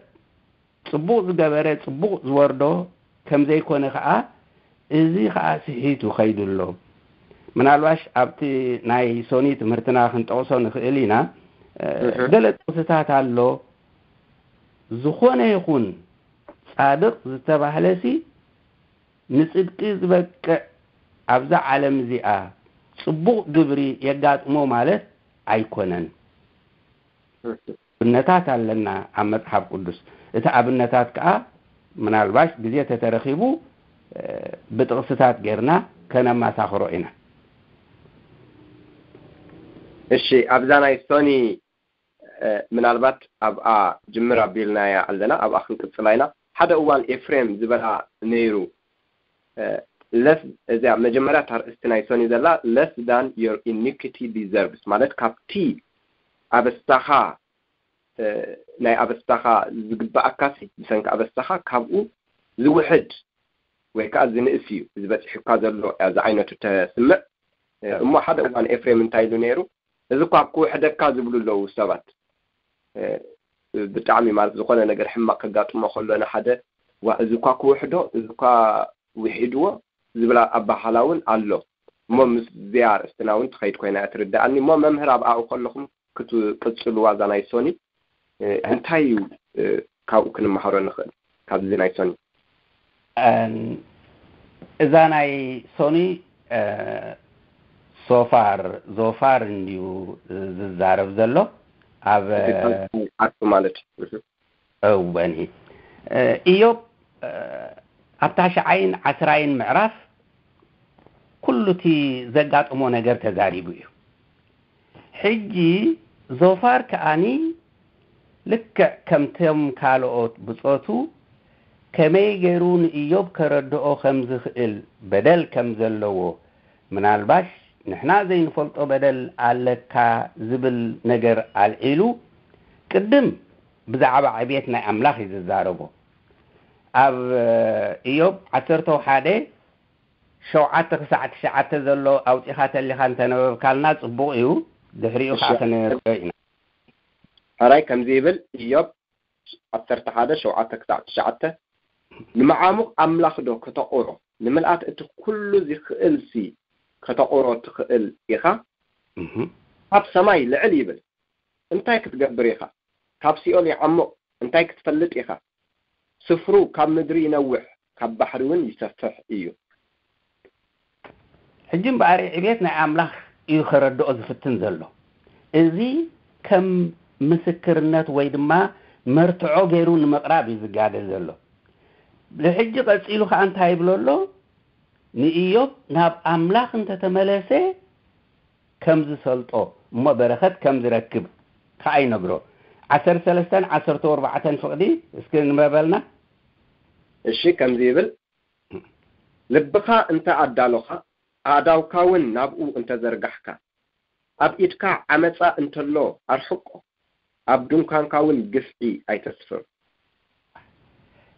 ጽቡቕ ዝገበረ ጽቡቕ ዝወርዶ ከም ዘይኮነ ከኣ፣ እዚ ከኣ ስሒቱ ከይዱ ኣሎ። ምናልባሽ ኣብቲ ናይ ሶኒ ትምህርትና ክንጠቕሶ ንኽእል ኢና። ገለ ጥቕስታት ኣሎ፣ ዝኾነ ይኹን ጻድቕ ዝተባህለሲ ንጽድቂ ዝበቅዕ ኣብዛ ዓለም እዚኣ ጽቡቕ ግብሪ የጋጥሞ ማለት ኣይኮነን። ኣብነታት ኣለና ኣብ መጽሓፍ ቅዱስ። እቲ ኣብነታት ከኣ ምናልባሽ ግዜ ተተረኺቡ ብጥቕስታት ጌርና ከነማሳኽሮ ኢና። እሺ፣ ኣብዛ ናይ ሶኒ ምናልባት ኣብኣ ጅምር ኣቢልናያ ኣለና፣ ኣብኣ ክንቅጽላ ኢና። ሓደ እዋን ኤፍሬም ዝበላ ነይሩ። ለስ እዚኣ መጀመርያ እታ ርእስቲ ናይ ሶኒ ዘላ less than your iniquity deserves፣ ማለት ካብቲ ኣበሳኻ ናይ ኣበሳኻ ዝግባኣካሲ ብሰንኪ ኣበሳኻ ካብኡ ዝውሕድ ወይ ከዓ ዝንእስ እዩ እዚ በፂሑካ ዘሎ እያ ዝዓይነቱ ተስምዕ። እሞ ሓደ እዋን ኤፍሬም እንታይ ኢሉ ነይሩ? እዚ እኳ ክውሕደካ ዝብሉ ኣለዉ ሰባት። ብጣዕሚ ማለት ዝኾነ ነገር ሕማቕ ከጋጥሞ ከሎ ንሓደ ዋ እዚ እኳ ክውሕዶ እዚ እኳ ውሒድዎ ዝብል ኣባሃላ እውን ኣሎ። እሞ ምስዚኣ ኣርእስትና እውን ትኸይድ ኮይና እያ ትርድኣኒ። እሞ መምህር ኣብኣኡ ከለኹም ክትቅፅልዋ እዛ ናይ ሶኒ እንታይ እዩ ካብኡ ክንመሃሮ ንኽእል ካብዚ ናይ ሶኒ? እዛ ናይ ሶኒ ሶፋር ዞፋር እንድዩ ዝዛረብ ዘሎ ኣብ ዓርሱ ማለት እዩ። እወኒ ኢዮብ ኣብ ታሽዓይን ዓስራይን ምዕራፍ ኩሉ እቲ ዘጋጠሞ ነገር ተዛሪቡ እዩ። ሕጂ ዞፋር ከኣኒ ልክዕ ከምቶም ካልኦት ብጾቱ ከመይ ገይሩ ንኢዮብ ከረድኦ ከም ዝኽእል በደል ከም ዘለዎ ምናልባሽ ንሕና ዘይንፈልጦ በደል ኣለካ ዝብል ነገር ኣልዒሉ ቅድም ብዛዕባ ዕቤት ናይ ኣምላኽ እዩ ዝዛረቦ። ኣብ ኢዮብ ዓሰርተ ሓደ ሸውዓተ ክሳዕ ትሽዓተ ዘሎ ኣውጺኻ ተሊኻ እንተነበብካልና ጽቡቕ እዩ። ድሕሪኡ ከዓ ክንሪኦ ኢና። ሕራይ ከምዚ ይብል፣ ኢዮብ ዓሰርተ ሓደ፣ ሸውዓተ ክሳዕ ትሽዓተ። "ንመዓሙቕ ኣምላኽ ዶ ከተቑሮ? ንምልኣት እቲ ኩሉ ዚኽእልሲ ከተቑሮ ትኽእል ኢኻ? እህ። ካብ ሰማይ ልዕል ይብል፣ እንታይ ክትገብር ኢኻ? ካብ ሲኦል ይዓሙቕ፣ እንታይ ክትፈልጥ ኢኻ? ስፍሩ ካብ ምድሪ ይነውሕ፣ ካብ ባሕሪ እውን ይሰፍሕ እዩ።" ሕጂ እምበኣር ዕቤት ናይ ኣምላኽ እዩ ከረድኦ ዝፍትን ዘሎ። እዚ ከም ምስክርነት ወይ ድማ መርትዖ ገይሩ ንምቕራብ እዩ ዝጋደል ዘሎ። ብሕጂ ቀጺሉ ከኣ እንታይ ይብሎ ኣሎ? ንኢዮብ ናብ ኣምላኽ እንተተመለሰ ከም ዝሰልጦ እሞ በረኸት ከም ዝረክብ ከኣ ይነግሮ። ዓሰርተ ሰለስተን ዓሰርተ ኣርባዕተን ፍቕዲ እስኪ ንበበልና። እሺ፣ ከምዚ ይብል፣ "ልብኻ እንተ ኣዳሎኻ፣ ኣእዳውካ እውን ናብኡ እንተ ዘርጋሕካ፣ ኣብ ኢድካ ዓመጻ እንተሎ ኣርሕቆ፣ ኣብ ድንኳንካ እውን ግፍዒ ኣይተስፍር።"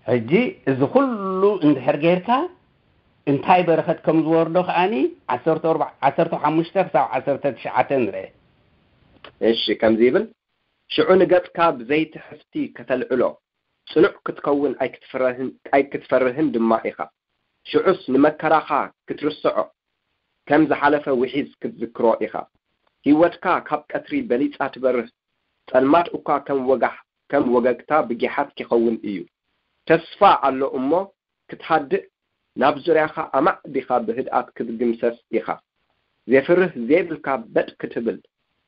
ሕጂ እዚ ኩሉ እንድሕር ጌርካ እንታይ በረኸት ከም ዝወርዶ ከኣኒ ዓሰርተ ኣርባዕተ፣ ዓሰርተ ሓሙሽተ ክሳብ ዓሰርተ ትሽዓተ ንርአ። እሺ፣ ከምዚ ይብል፣ "ሽዑ ንገጽካ ብዘይቲ ሕፍቲ ከተልዕሎ፣ ጽኑዕ ክትከውን ኣይክትፍረህን-፣ ኣይክትፈርህን ድማ ኢኻ። ሽዑስ ንመከራኻ ክትርስዖ፣ ከም ዝሓለፈ ውሒዝ ክትዝክሮ ኢኻ። ህይወትካ ካብ ቀትሪ በሊጻ ትበርህ፣ ጸልማት እኳ ከም ወጋሕ-፣ ከም ወገግታ ብጊሓት ኪኸውን እዩ። ተስፋ ኣሎ እሞ ክትሃድእ፣ ናብ ዙርያኻ ኣማዕዲኻ ብህድኣት ክትግምሰስ ኢኻ። ዜፍርህ ዜብልካ በጥ ክትብል፣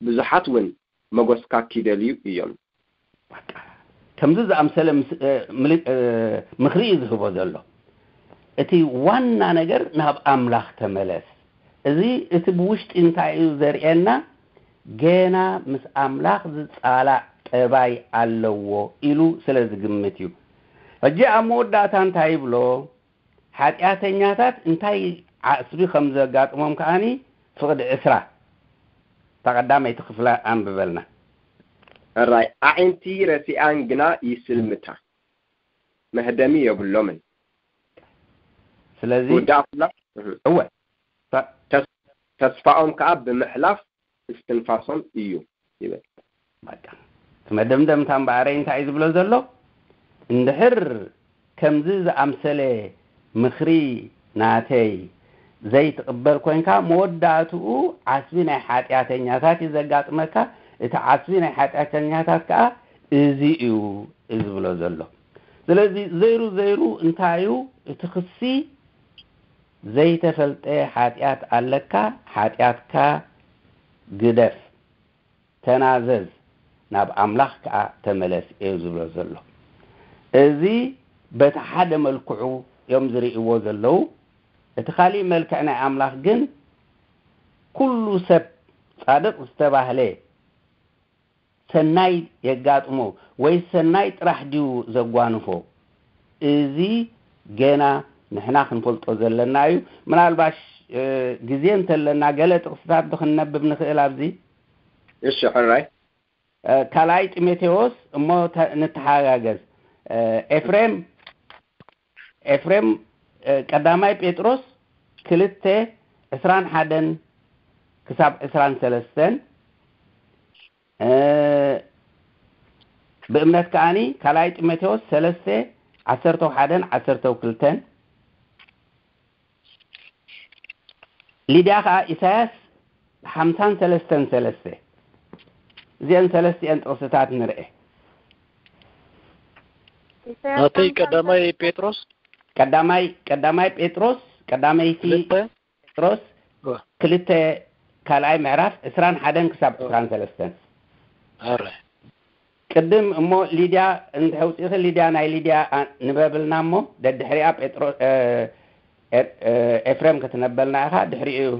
ብዙሓት እውን መጎስካ ኪደልዩ እዮም።" በቃ፣ ከምዚ ዝኣምሰለ ምስ-፣ እ፣ ምል-፣ እ፣ ምኽሪ እዩ ዝህቦ ዘሎ። እቲ ዋና ነገር ናብ ኣምላኽ ተመለስ። እዚ እቲ ብውሽጢ እንታይ እዩ ዘርእየና? ገና ምስ ኣምላኽ ዝጻላእ ጠባይ ኣለዎ ኢሉ ስለ ዝግምት እዩ። ሕጂ ኣብ መወዳእታ እንታይ ይብሎ? ሓጢኣተኛታት እንታይ ዓስቢ ከም ዘጋጥሞም ከኣኒ ፍቕዲ ዕስራ፣ እታ ቀዳመይቲ ክፍላ ኣንብበልና። ሕራይ፣ "ኣዒንቲ ረሲኣን ግና ይስልምታ፣ መህደሚ የብሎምን። ስለዚ ክውዳእ ከሎ፣ እህ፣ እወ፣ ተ-፣ ተስ-፣ ተስፋኦም ከኣ ብምሕላፍ እስትንፋሶም እዩ" ይብል። በቃ፣ እቲ መደምደምታ እምበኣረይ እንታይ እዩ ዝብሎ ዘሎ? እንድሕር ከምዚ ዝኣምሰለ ምኽሪ ናተይ ዘይትቕበል ኮይንካ፣ መወዳእትኡ ዓስቢ ናይ ሓጢኣተኛታት እዩ ዘጋጥመካ። እቲ ዓስቢ ናይ ሓጢኣተኛታት ከኣ እዚ እዩ ዝብሎ ዘሎ። ስለዚ ዘይሩ ዘይሩ እንታይ እዩ እቲ ክሲ? ዘይተፈልጠ ሓጢኣት ኣለካ፣ ሓጢኣትካ ግደፍ፣ ተናዘዝ፣ ናብ ኣምላኽ ከኣ ተመለስ እዩ ዝብሎ ዘሎ። እዚ በቲ ሓደ መልክዑ እዮም ዝርእይዎ ዘለዉ። እቲ ካሊእ መልክዕ ናይ ኣምላኽ ግን ኩሉ ሰብ ጻድቕ ዝተባህለ ሰናይ የጋጥሞ ወይ ሰናይ ጥራሕ ድዩ ዘጓንፎ? እዚ ገና ንሕና ክንፈልጦ ዘለና እዩ። ምናልባሽ፣ እ፣ ግዜ እንተለና ገለ ጥቕስታት ዶ ክንነብብ ንኽእል ኣብዚ? እሺ፣ ሕራይ። እ፣ ካልኣይ ጢሞቴዎስ እሞ ተ-፣ ንተሓጋገዝ። እ፣ ኤፍሬም፣ ኤፍሬም፣ እ፣ ቀዳማይ ጴጥሮስ ክልተ ዕስራን ሓደን ክሳብ ዕስራን ሰለስተን፣ እ፣ ብእምነት ከኣኒ ካልኣይ ጢሞቴዎስ ሰለስተ ዓሰርተ ሓደን ዓሰርተ ክልተን፣ ሊድያ ከኣ ኢሳያስ ሓምሳን ሰለስተን ሰለስተ። እዚአን ሰለስቲአን ጥቕስታት ንርኤ። ኢሳያስ ናተይ ሓምሳን ቀዳማይ ሰለስተን። ጴጥሮስ ቀዳማይ፣ ቀዳማይ ጴጥሮስ፣ ቀዳመይቲ ክልተ። ጴጥሮስ ዋ። ክልተ ካልኣይ ምዕራፍ ዕስራን ሓደን ክሳብ ዋ። ዕስራን ሰለስተን። ኣረ። ቅድም እሞ ሊድያ እንድሕር ውፂእኺ፣ ሊድያ፣ ናይ ሊድያ፣ ኣ፣ ንበብልና እሞ ደድሕሪኣ ጴጥሮ-፣ እ፣ ኤ-፣ እ፣ ኤፍሬም ክትነበልና ኢኻ፣ ድሕሪኡ፣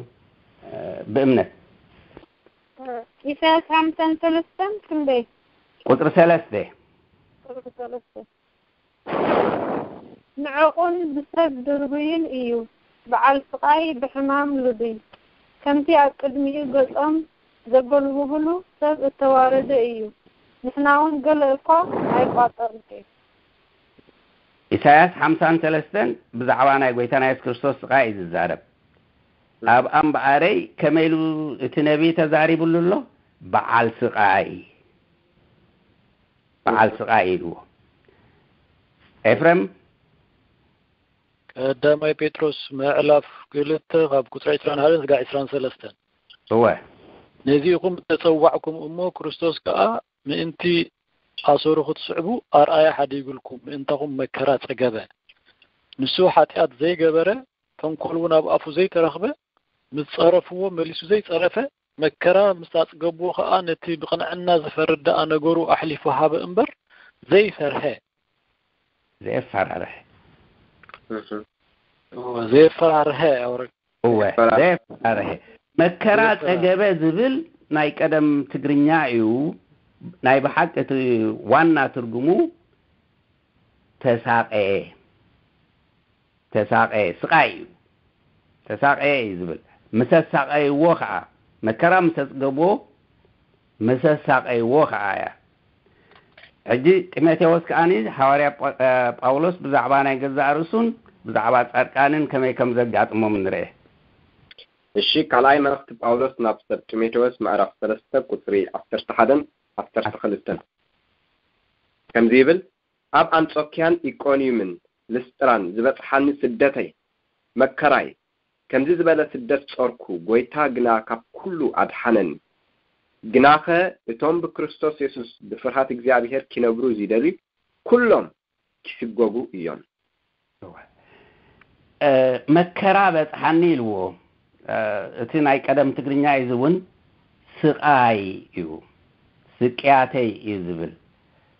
እ፣ ብእምነት። ኢሳያስ ሓምሳን ሰለስተን ክንደይ? ቁፅሪ ሰለስተ። ቁፅሪ ሰለስተ። ንዕቑን ብሰብ ድርቡይን እዩ፣ በዓል ስቓይ ብሕማም ልዱይ። ከምቲ ኣብ ቅድሚኡ ገጾም ዘጎልብብሉ ሰብ እተዋረደ እዩ፣ ንሕናውን ገለ እኳ ኣይቋጸርንኪ። ኢሳያስ ሓምሳን ሰለስተን ብዛዕባ ናይ ጐይታና የሱስ ክርስቶስ ስቓይ እዩ ዝዛረብ። ኣብ ኣምበኣረይ ከመይ ኢሉ እቲ ነቢይ ተዛሪቡሉ ኣሎ? በዓል ስቓይ። በዓል ስቓይ ኢልዎ። ኤፍሬም? ቀዳማይ ጴጥሮስ ምዕላፍ ክልተ ካብ ቁፅሪ ዕስራን ሓደን ስጋዕ ዕስራን ሰለስተን። እወ። ነዚ ኢኹም እተጸዋዕኩም እሞ፣ ክርስቶስ ከኣ ምእንቲ ኣሰሩ ክትስዕቡ ኣርኣያ ሓዲጉልኩም፣ ምእንታኹም መከራ ጸገበ። ንሱ ሓጢኣት ዘይገበረ፣ ተንኮል እውን ኣብ ኣፉ ዘይተረኽበ፣ ምስ ጸረፍዎ መሊሱ ዘይጸረፈ፣ መከራ ምስ ኣጽገብዎ ከኣ ነቲ ብቕንዕና ዝፈርድ ደኣ ነገሩ ኣሕሊፉ ሃበ እምበር ዘይፈርሀ። ዘየፈራርህ። እወ፣ ዘየፈራርሀ ኣውረድ። እወ፣ ዘየፈራርህ። መከራ ጸገበ ዝብል ናይ ቀደም ትግርኛ እዩ። ናይ ብሓቂ እቲ ዋና ትርጉሙ ተሳቐየ። ተሳቐየ፣ ስቓይ እዩ። ተሳቐየ እዩ ዝብል። ምስ ኣሳቐይዎ ኸዓ፣ መከራ ምስ ኣጽገብዎ፣ ምስ ኣሳቐይዎ ኸዓ እያ። ሕጂ ጢሞቴዎስ ከኣኒ ሓዋርያ ጳ-፣ እ፣ ጳውሎስ ብዛዕባ ናይ ገዛእ ርእሱን ብዛዕባ ጻድቃንን ከመይ ከም ዘጋጥሞም ንርኤ። እሺ፣ ካልኣይ መልእኽቲ ጳውሎስ ናብ ሰብ ጢሞቴዎስ ምዕራፍ ሰለስተ ቁጽሪ ዓሰርተ ሓደን ዓሰርተ ክልተን ከምዚ ይብል፣ ኣብ ኣንጾኪያን ኢቆንዩምን ልስጥራን ዝበጽሓኒ ስደተይ መከራይ፣ ከምዚ ዝበለ ስደት ጾርኩ፣ ጎይታ ግና ካብ ኩሉ ኣድሓነኒ። ግናኸ እቶም ብክርስቶስ የሱስ ብፍርሃት እግዚኣብሔር ኪነብሩ ዚደልዩ ኩሎም ኪስጎጉ እዮም። እ፣ መከራ በጽሓኒ ኢልዎ። እ፣ እቲ ናይ ቀደም ትግርኛ እዩ እውን ስቓይ እዩ፣ ስቅያተይ እዩ ዝብል።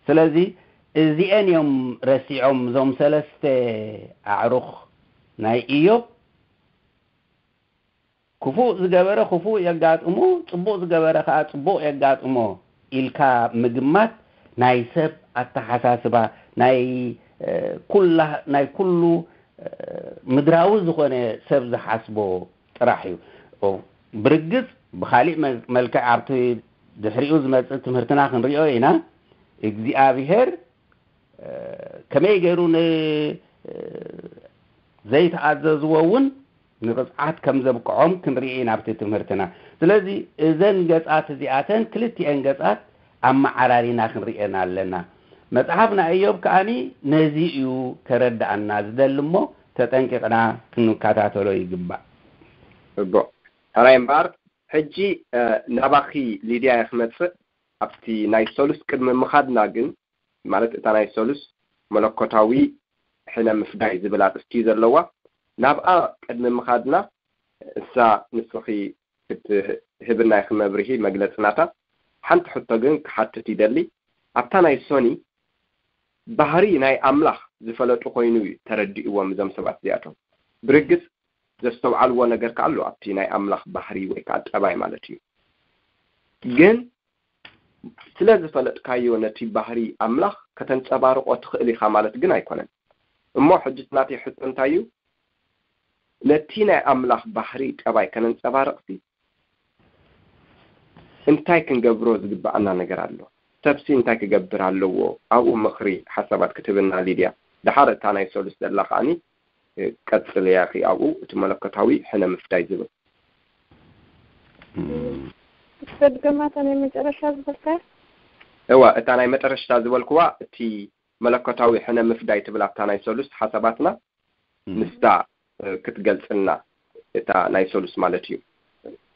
ስለዚ እዚአን እዮም ረሲዖም እዞም ሰለስተ ኣዕሩኽ ናይ ኢዮብ። ክፉእ ዝገበረ ክፉእ የጋጥሞ፣ ጽቡቕ ዝገበረ ከኣ ጽቡቕ የጋጥሞ ኢልካ ምግማት ናይ ሰብ ኣተሓሳስባ፣ ናይ፣ እ፣ ኩላ፣ ናይ ኩሉ፣ እ፣ ምድራዊ ዝኾነ ሰብ ዝሓስቦ ጥራሕ እዩ። ኦ፣ ብርግጽ ብኻሊእ መ-፣ መልክዕ ኣብቲ ድሕሪኡ ዝመጽእ ትምህርትና ክንሪኦ ኢና። እግዚኣብሔር እ፣ ከመይ ገይሩ ን-፣ እ፣ ዘይተኣዘዝዎ እውን ንቕጽዓት ከም ዘብቅዖም ክንርኢ ኢና ኣብቲ ትምህርትና። ስለዚ እዘን ገጻት እዚኣተን ክልቲኤን ገጻት ኣመዓራሪና ክንርእየን ኣለና። መጽሓፍ ናይ እዮብ ከኣኒ ነዚ እዩ ከረድኣና ዝደሊ እሞ ተጠንቂቕና ክንከታተሎ ይግባእ። እቦ፣ ሕራይ እምበኣር፣ ሕጂ፣ እ፣ ናባኺ ሊድያ እየ ክመጽእ። ኣብቲ ናይ ሰሉስ ቅድሚ ምኻድና ግን፣ ማለት እታ ናይ ሰሉስ መለኮታዊ ሕነ ምፍዳይ ዝብል ኣርእስቲ እዩ ዘለዋ። ናብኣ ቅድሚ ምኻድና፣ እሳ ንስኺ ክትህብና ኢኺ መብርሂ መግለጺ ናታ። ሓንቲ ሕቶ ግን ክሓትት ይደሊ። ኣብታ ናይ ሶኒ ባህሪ ናይ ኣምላኽ ዝፈለጡ ኮይኑ እዩ ተረዲእዎም እዞም ሰባት እዚኣቶም። ብርግጽ ዘስተውዓልዎ ነገር ከኣ ኣሎ ኣብቲ ናይ ኣምላኽ ባህሪ ወይ ከኣ ጠባይ ማለት እዩ። ግን ስለ ዝፈለጥካዮ ነቲ ባህሪ ኣምላኽ ከተንጸባርቆ ትኽእል ኢኻ ማለት ግን ኣይኮነን። እሞ ሕጂ እቲ ናተይ ሕቶ እንታይ እዩ? ነቲ ናይ ኣምላኽ ባህሪ ጠባይ ከነንጸባርቕሲ እንታይ ክንገብሮ ዝግብኣና ነገር ኣሎ? ሰብሲ እንታይ ክገብር ኣለዎ? ኣብኡ ምኽሪ፣ ሓሳባት ክትህብና ሊድያ። ደሓር እታ ናይ ሰሉስ ዘላ ከኣኒ፣ እ፣ ቀጽልያ ኢኺ ኣብኡ፣ እቲ መለኮታዊ ሕነ ምፍዳይ ዝብል። እም፣ እስከ ድገማታ ናይ መጨረሻ ዝበልካያ? እዋ፣ እታ ናይ መጨረሽታ ዝበልክዋ፣ እቲ መለኮታዊ ሕነ ምፍዳይ ትብል ኣብታ ናይ ሰሉስ ሓሳባትና፣ እም። ንሳ፣ እ፣ ክትገልጽልና፣ እታ ናይ ሰሉስ ማለት እዩ፣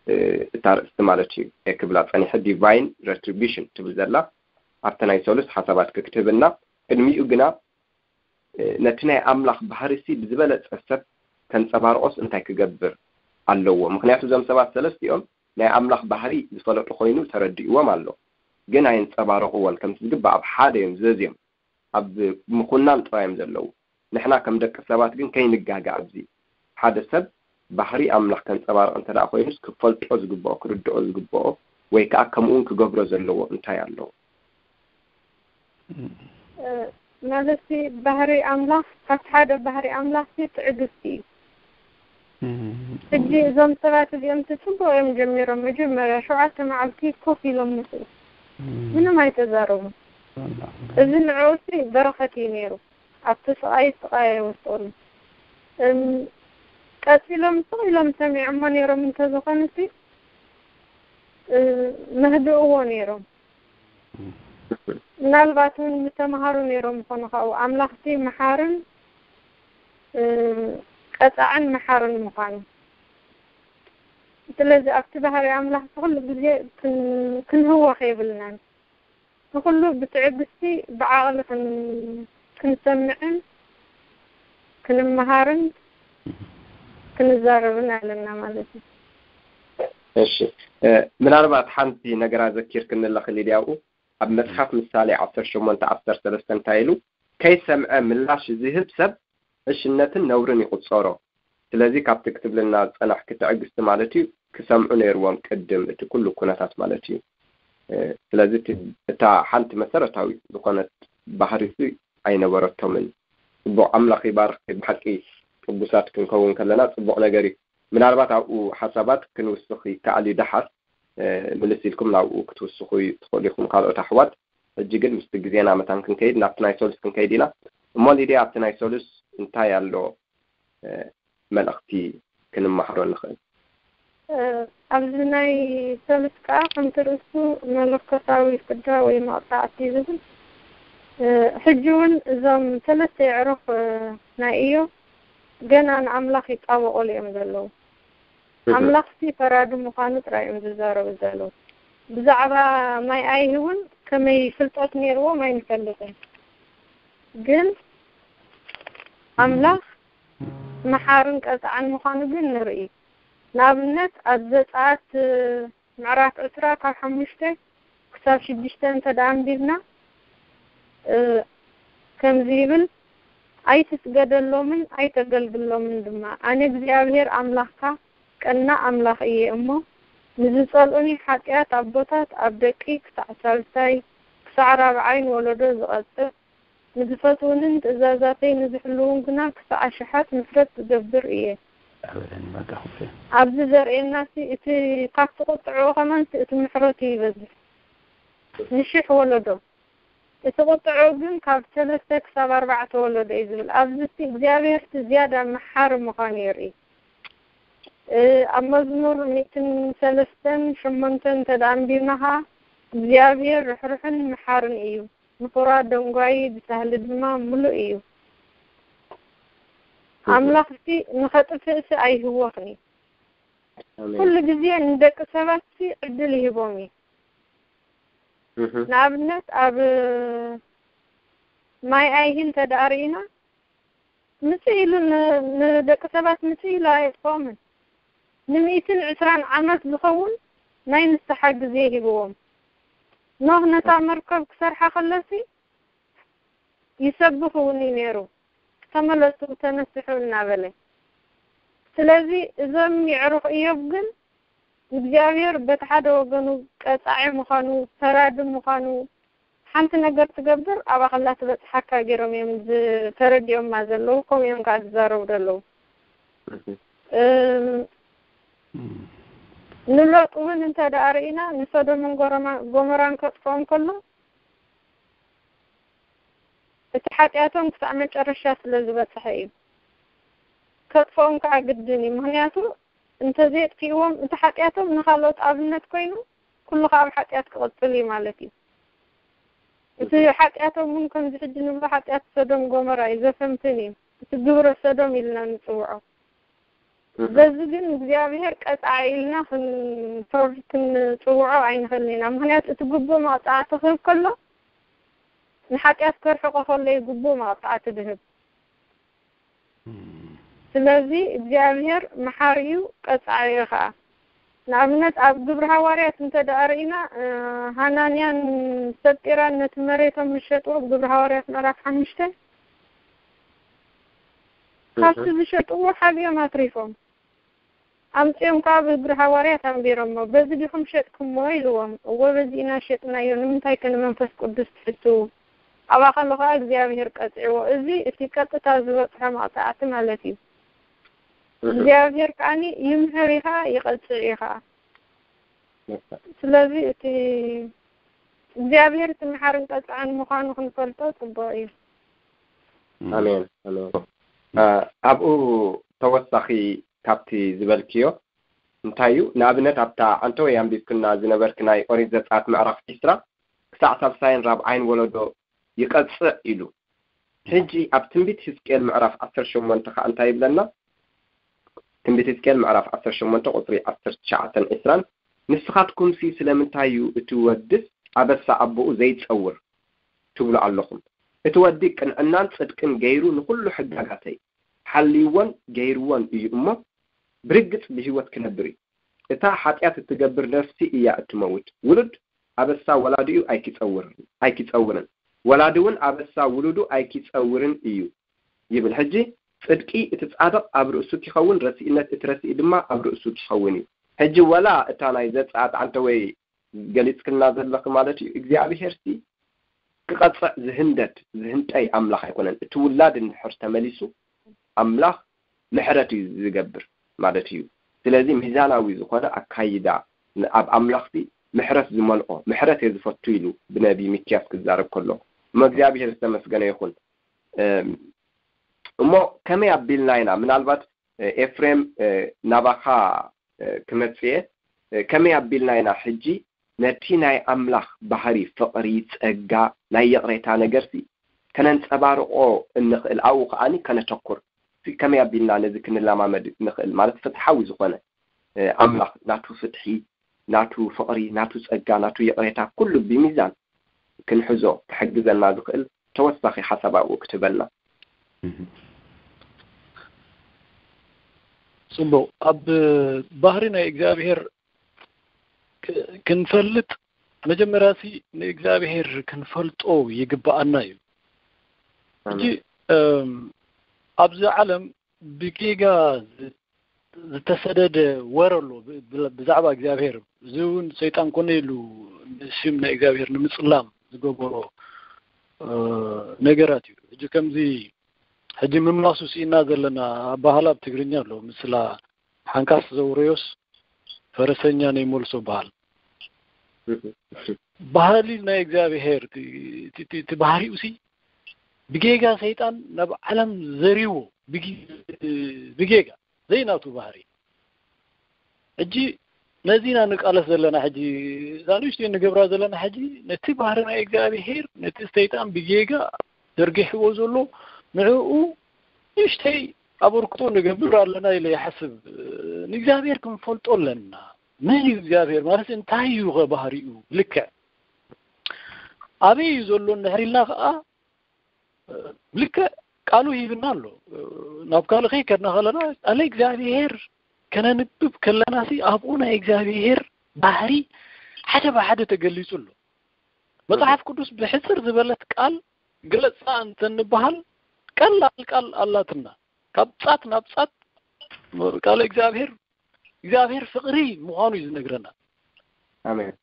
እ፣ እታ ርእስቲ ማለት እዩ፣ እየ ክብላ ጸኒሐ፣ ዲቫይን ሬትሪቢሽን ትብል ዘላ፣ ኣብታ ናይ ሰሉስ ሓሳባት ክትህብና፣ ቅድሚኡ ግና፣ እ፣ ነቲ ናይ ኣምላኽ ባህሪሲ ብዝበለጸ ሰብ ከንጸባርቆስ እንታይ ክገብር ኣለዎ? ምኽንያቱ እዞም ሰባት ሰለስቲኦም ናይ ኣምላኽ ባህሪ ዝፈለጡ ኮይኑ ተረዲእዎም ኣሎ። ግን ኣየንጸባረቕዎን። ከምቲ ዝግባእ ኣብ ሓደ እዮም ዘዝዮም። ኣብ ምኹናን ጥራይ እዮም ዘለዉ። ንሕና ከም ደቂ ሰባት ግን ከይንጋገ ኣብዚ። ሓደ ሰብ ባህሪ ኣምላኽ ከንጸባርቕ እንተ ደኣ ኮይኑስ ክፈልጦ ዝግብኦ፣ ክርድኦ ዝግብኦ ወይ ከኣ ከምኡ እውን ክገብሮ ዘለዎ እንታይ ኣለዎ? እ፣ ማለትሲ ባህሪ ኣምላኽ፣ ካብቲ ሓደ ባህሪ ኣምላኽሲ ትዕግስቲ እዩ። እም፣ ሕጂ እዞም ሰባት እዚኦም እቲ ጽቡቕ እዮም ጀሚሮም። መጀመርያ ሸውዓተ መዓልቲ ኮፍ ኢሎም ንስኡ። እም፣ ምንም ኣይተዛረቡን። ኣላ። እዚ ንዕኡሲ በረኸት እዩ ነይሩ። ኣብቲ ስቓይ ስቓይ ኣይወሰኹን። እም፣ ቀጺሎም ስቕ ኢሎም ሰሚዖሞ ነይሮም እንተዝኾኑሲ፣ እ፣ መህድእዎ ነይሮም። እም። ምናልባት እውን ምተምሃሩ ነይሮም ይኾኑ ካብኡ ኣምላኽቲ መሓርን ቀፃዕን መሓርን ምዃኑ። ስለዚ ኣብቲ ባህሪ ኣምላኽ ኩሉ ግዜ ክንህወኽ የብልናን። ንኩሉ ብትዕግስቲ ብዓቕሊ ክንሰምዕን ክንመሃርን ክንዛረብን ኣለና ማለት እዩ። እሺ፣ ምናልባት ሓንቲ ነገራ ዘኪር ክንለኽል ኢልያኡ ኣብ መጽሓፍ ምሳሌ ዓሰርተ ሸሞንተ ዓሰርተ ሰለስተ እንታይ ኢሉ? ከይሰምዐ ምላሽ ዝህብ ሰብ ዕሽነትን ነውርን ይቑጸሮ። ስለዚ ካብቲ ክትብልና ዝጸናሕኪ ትዕግስቲ ማለት እዩ ክሰምዑ ነይርዎም ቅድም እቲ ኩሉ ኩነታት ማለት እዩ። ስለዚ እታ ሓንቲ መሰረታዊ ዝኾነት ባህሪ እሱ ኣይነበረቶምን። ጽቡቕ ኣምላኽ ይባርኽ። ብሓቂ ቅቡሳት ክንከውን ከለና ጽቡቕ ነገር እዩ። ምናልባት ኣብኡ ሓሳባት ክንውስኽ ይከኣል እዩ። ደሓር ምልስ ኢልኩም ናብኡ ክትውስኹ ትኽእሉ ኢኹም። ካልኦት ኣሕዋት ሕጂ ግን ምስቲ ግዜና መታን ክንከይድ ናብቲ ናይ ሰሉስ ክንከይድ ኢና። እሞ ሊድያ ኣብቲ ናይ ሰሉስ እንታይ ኣሎ መልእኽቲ ክንመሃሮ ንኽእል? ኣብዚ ናይ ሰሉስ ከዓ ከምቲ ርእሱ መለኮታዊ ፍዳ ወይ መቕፃዕቲ ዝብል ሕጂ እውን እዞም ሰለስተ የዕሩኽ ናይ እዮብ ገና ንኣምላኽ ይጣበቑሉ እዮም ዘለዉ። ኣምላኽሲ ፈራዲ ምዃኑ ጥራይ እዮም ዝዛረቡ ዘለዉ። ብዛዕባ ማይ ኣይሂ እውን ከመይ ፍልጠት ነይርዎም ኣይንፈልጥን። ግን ኣምላኽ መሓርን ቀፃዕን ምዃኑ ግን ንርኢ። ንኣብነት ኣብ ዘፀኣት ምዕራፍ ዕስራ ካብ ሓሙሽተ ክሳብ ሽዱሽተ እንተ ደኣ ኣንቢብና ከምዚ ይብል፣ ኣይትስገደሎምን ኣይተገልግሎምን ድማ። ኣነ እግዚኣብሔር ኣምላኽካ ቀናእ ኣምላኽ እየ እሞ፣ ንዝጸልኡኒ ሓጢኣት ኣቦታት ኣብ ደቂ ክሳዕ ሳልሳይ፣ ክሳዕ ራብዓይ ወለዶ ዝቐጽዕ፣ ንዝፈትዉንን ትእዛዛተይ ንዝሕልዉን ግና ክሳዕ ኣሽሓት ምሕረት ዝገብር እየ። ኣብዚ ዘርእየና እቲ ካብቲ ቁጥዕኡ ከማን እቲ ምሕረቱ ይበዝሕ ንሽሕ ወለዶ። እቲ ቁጥዑ ግን ካብ ሰለስተ ክሳብ ኣርባዕተ ወለዶ እዩ ዝብል። ኣብዚ እቲ እግዚኣብሔር እቲ ዝያዳ መሓሪ ምዃኑ የርኢ። ኣብ መዝሙር ሚእትን ሰለስተን ሸሞንተን እንተ ደኣ ኣንቢብና ኸዓ እግዚኣብሔር ርሕሩሕን መሓርን እዩ፣ ንኹራ ደንጓዪ ብሳህሊ ድማ ምሉእ እዩ። ኣምላኽ እቲ ንኸጥፍእሲ ኣይህወኽን እዩ። ኩሉ ግዜ ንደቂ ሰባት ሲ ዕድል ይህቦም እዩ። ንኣብነት ኣብ ማይ ኣይሂ እንተ ደኣ ርኢና ምጽእ ኢሉ ንደቂ ሰባት ምጽእ ኢሉ ኣየጥፍኦምን። ንሚእትን ዕስራን ዓመት ዝኸውን ናይ ንስሓ ግዜ ሂብዎም። ኖህ ነታ መርከብ ክሰርሓ ከሎሲ ይሰብኽ እውን እዩ ነይሩ። ተመለሱ ተነስሑ እናበለ። ስለዚ እዞም የዕሩኽ እዮብ ግን እግዚኣብሔር በቲ ሓደ ወገኑ ቀጻዒ ምዃኑ፣ ፈራዲ ምዃኑ፣ ሓንቲ ነገር ትገብር ኣብኣ ከላ ትበጽሓካ ገይሮም እዮም ተረዲኦማ ዘለዉ፣ ከምኡ እዮም ከዓ ዝዛረቡ ዘለዉ። ንሎጥ እውን እንተ ደኣ ርኢና ንሶዶምን ጎሞራን ከጥፍኦም ከሎ እቲ ሓጢኣቶም ክሳዕ መጨረሻ ስለ ዝበጽሐ እዩ። ከጥፍኦም ከዓ ግድን እዩ። ምኽንያቱ እንተዘየጥፊእዎም እቲ ሓጢኣቶም ንኻልኦት ኣብነት ኮይኑ ኩሉ ከዓ ኣብ ሓጢኣት ክቕጽል እዩ ማለት እዩ። እቲ ሓጢኣቶም እውን ከምዚ ሕጂ ንብሎ ሓጢኣት ሶዶም ጎሞራ እዩ፣ ዘፈንፍን እዩ። እቲ ግብረ ሶዶም ኢልና ንጽውዖ። በዚ ግን እግዚኣብሔር ቀጻዒ ኢልና ክንፈርድ ክንጽውዖ ኣይንኽእልን ኢና። ምኽንያቱ እቲ ግቡእ መቕጻዕቲ ክህብ ከሎ ንሓጢኣት ከርሕቆ ከሎ እዩ ግቡእ መቕጻዕቲ ዝህብ። ስለዚ እግዚኣብሔር መሓሪ እዩ፣ ቀጻዒ እዩ ኸዓ። ንኣብነት ኣብ ግብሪ ሃዋርያት እንተ ደኣ ርኢና ሃናንያን ሰጲራን ነቲ መሬቶም ዝሸጥዎ ግብሪ ሃዋርያት ምዕራፍ ሓሙሽተ ካብቲ ዝሸጥዎ ሓቢኦም ኣትሪፎም ኣምጺኦም ከዓ ብእግሪ ሃዋርያት ኣንቢሮሞ፣ በዚ ዲኹም ሸጥኩሞ? ኢልዎም። እወ፣ በዚ ኢና ሸጥናዮ፣ ንምንታይ ከ ንመንፈስ ቅዱስ ትሕትዉ? ኣብኣ ከሎ ከዓ እግዚኣብሔር ቀጺዕዎ። እዚ እቲ ቀጥታ ዝበጽሖ መቕጻዕቲ ማለት እዩ። እግዚኣብሔር ከዓኒ ይምህር እዩ ከዓ ይቐጽዕ እዩ ከዓ። ስለዚ እቲ እግዚኣብሔር እቲ መሓርን ቀጻዕን ምዃኑ ክንፈልጦ ጽቡቕ እዩ። ኣሜን ኣሜን። ኣብኡ ተወሳኺ ካብቲ ዝበልክዮ እንታይ እዩ? ንኣብነት ኣብታ ዓንተወይ ኣንቢብክና ዝነበርክ ናይ ኦሪት ዘጸኣት ምዕራፍ ዒስራ ክሳዕ ሳልሳይን ራብዓይን ወለዶ ይቐጽዕ ኢሉ። ሕጂ ኣብ ትንቢት ሕዝቅኤል ምዕራፍ ዓሰርተ ሸሞንተ ከኣ እንታይ ይብለና? ትንቢት ሕዝቅኤል ምዕራፍ ዓሰርተ ሸሞንተ ቁጽሪ ዓሰርተ ትሽዓተን ዕስራን፣ "ንስኻትኩምሲ ስለምንታይ እዩ እቲ ወድስ ኣበሳ ኣቦኡ ዘይጸውር ትብሉ ኣለኹም? እቲ ወዲ ቅንዕናን ጽድቅን ገይሩ ንኹሉ ሕጋጋተይ ሓልይዎን ገይርዎን እዩ እሞ፣ ብርግጽ ብህይወት ክነብር እዩ። እታ ሓጢኣት እትገብር ነፍሲ እያ እትመውት። ውሉድ ኣበሳ ወላዲኡ ኣይኪጸውርን፣ ኣይኪጸውርን፣ ወላዲ እውን ኣበሳ ውሉዱ ኣይኪጸውርን እዩ" ይብል። ሕጂ ጽድቂ እቲ ጻድቕ ኣብ ርእሱ ኪኸውን፣ ረሲእነት እቲ ረሲእ ድማ ኣብ ርእሱ ኪኸውን እዩ። ሕጂ ወላ እታ ናይ ዘጸኣት ዓንተ ወይ ገሊጽክልና ዘለኺ ማለት እዩ፣ እግዚኣብሄርሲ ክቐጽዕ ዝህንደድ ዝህንጠይ ኣምላኽ ኣይኮነን። እቲ ውላድ እንድሕር ተመሊሱ ኣምላኽ ምሕረት እዩ ዝገብር ማለት እዩ። ስለዚ ሚዛናዊ ዝኾነ ኣካይዳ ን-፣ ኣብ ኣምላኽሲ ምሕረት ዝመልኦ፣ ምሕረት እየ ዝፈቱ ኢሉ ብነቢ ሚክያስ ክዛረብ ከሎ፣ እሞ እግዚኣብሄር ዝተመስገነ ይኹን። እም፣ እሞ ከመይ ኣቢልና ኢና ምናልባት፣ እ፣ ኤፍሬም፣ እ፣ ናባኻ፣ እ፣ ክመጽእ እየ። እ፣ ከመይ ኣቢልና ኢና ሕጂ ነቲ ናይ ኣምላኽ ባህሪ ፍቕሪ፣ ጸጋ፣ ናይ ይቕሬታ ነገርሲ ከነንጸባርቖ እንኽእል? ኣብኡ ከኣኒ ከነተኩር። ከመይ ኣቢልና ነዚ ክንለማመድ ንኽእል? ማለት ፍትሓዊ ዝኾነ፣ እ፣ ኣምላኽ ናቱ ፍትሒ፣ ናቱ ፍቕሪ፣ ናቱ ጸጋ፣ ናቱ ይቕሬታ ኩሉ ብሚዛን ክንሕዞ ክሕግዘና ዝኽእል ተወሳኺ ሓሳብ ኣብኡ ክትህበልና። እህ። ጽቡቕ። ኣብ ባህሪ ናይ እግዚኣብሄር ክ-፣ ክንፈልጥ መጀመርያሲ ንእግዚኣብሄር ክንፈልጦ ይግብኣና እዩ። ሕጂ፣ ኣሜን። እም፣ ኣብዚ ዓለም ብጌጋ ዝ-፣ ዝተሰደደ ወረ ኣሎ ብ-፣ ብ-፣ ብዛዕባ እግዚኣብሄር። እዚ እውን ሰይጣን ኮነ ኢሉ ንሽም ናይ እግዚኣብሄር ንምጽላም ዝገበሮ፣ እ፣ ነገራት እዩ። ሕጂ ከምዚ ሕጂ ምምላሱ ስኢና ዘለና ኣባህላ ኣብ ትግርኛ ኣሎ፣ ምስላ ሓንካስ ዘውረዮስ ፈረሰኛ ነይመልሶ በሃል። እህ፣ እህ። ባህሊ ናይ እግዚኣብሄር፣ እቲ፣ እቲ፣ እቲ፣ እቲ ባህሪኡ ሲ ብጌጋ ሰይጣን ናብ ዓለም ዘሪዎ፣ ብጊ-፣ ብጌጋ ዘይናቱ ባህሪ። ሕጂ ነዚ ኢና ንቃለስ ዘለና። ሕጂ እዛ ንእሽተይ ንገብራ ዘለና ሕጂ ነቲ ባህሪ ናይ እግዚኣብሄር፣ ነቲ ሰይጣን ብጌጋ ዘርጊሕዎ ዘሎ ንዕኡ ንእሽተይ ኣበርክቶ ንገብር ኣለና ኢለ ይሓስብ። ንእግዚኣብሔር ክንፈልጦ ኣለና። መን እዩ እግዚኣብሔር? ማለት እንታይ እዩ ኸ ባህሪኡ? ልክዕ ኣበይ እዩ ዘሎ እንድሕር ኢልና ኸዓ፣ ልክዕ ቃሉ ሂብና ኣሎ። ናብ ካልእ ከይከድና ከለና፣ ቃለ እግዚኣብሔር ከነንብብ ከለና ሲ ኣብኡ ናይ እግዚኣብሔር ባህሪ ሓደ ብሓደ ተገሊጹ ኣሎ። መጽሓፍ ቅዱስ ብሕጽር ዝበለት ቃል ግለጻ እንተንበሃል፣ ቀላል ቃል ኣላትና። ካብ ጻት ናብ ጻት ቃለ እግዚኣብሔር፣ እግዚኣብሔር ፍቕሪ ምዃኑ እዩ ዝነግረና። ኣሜን።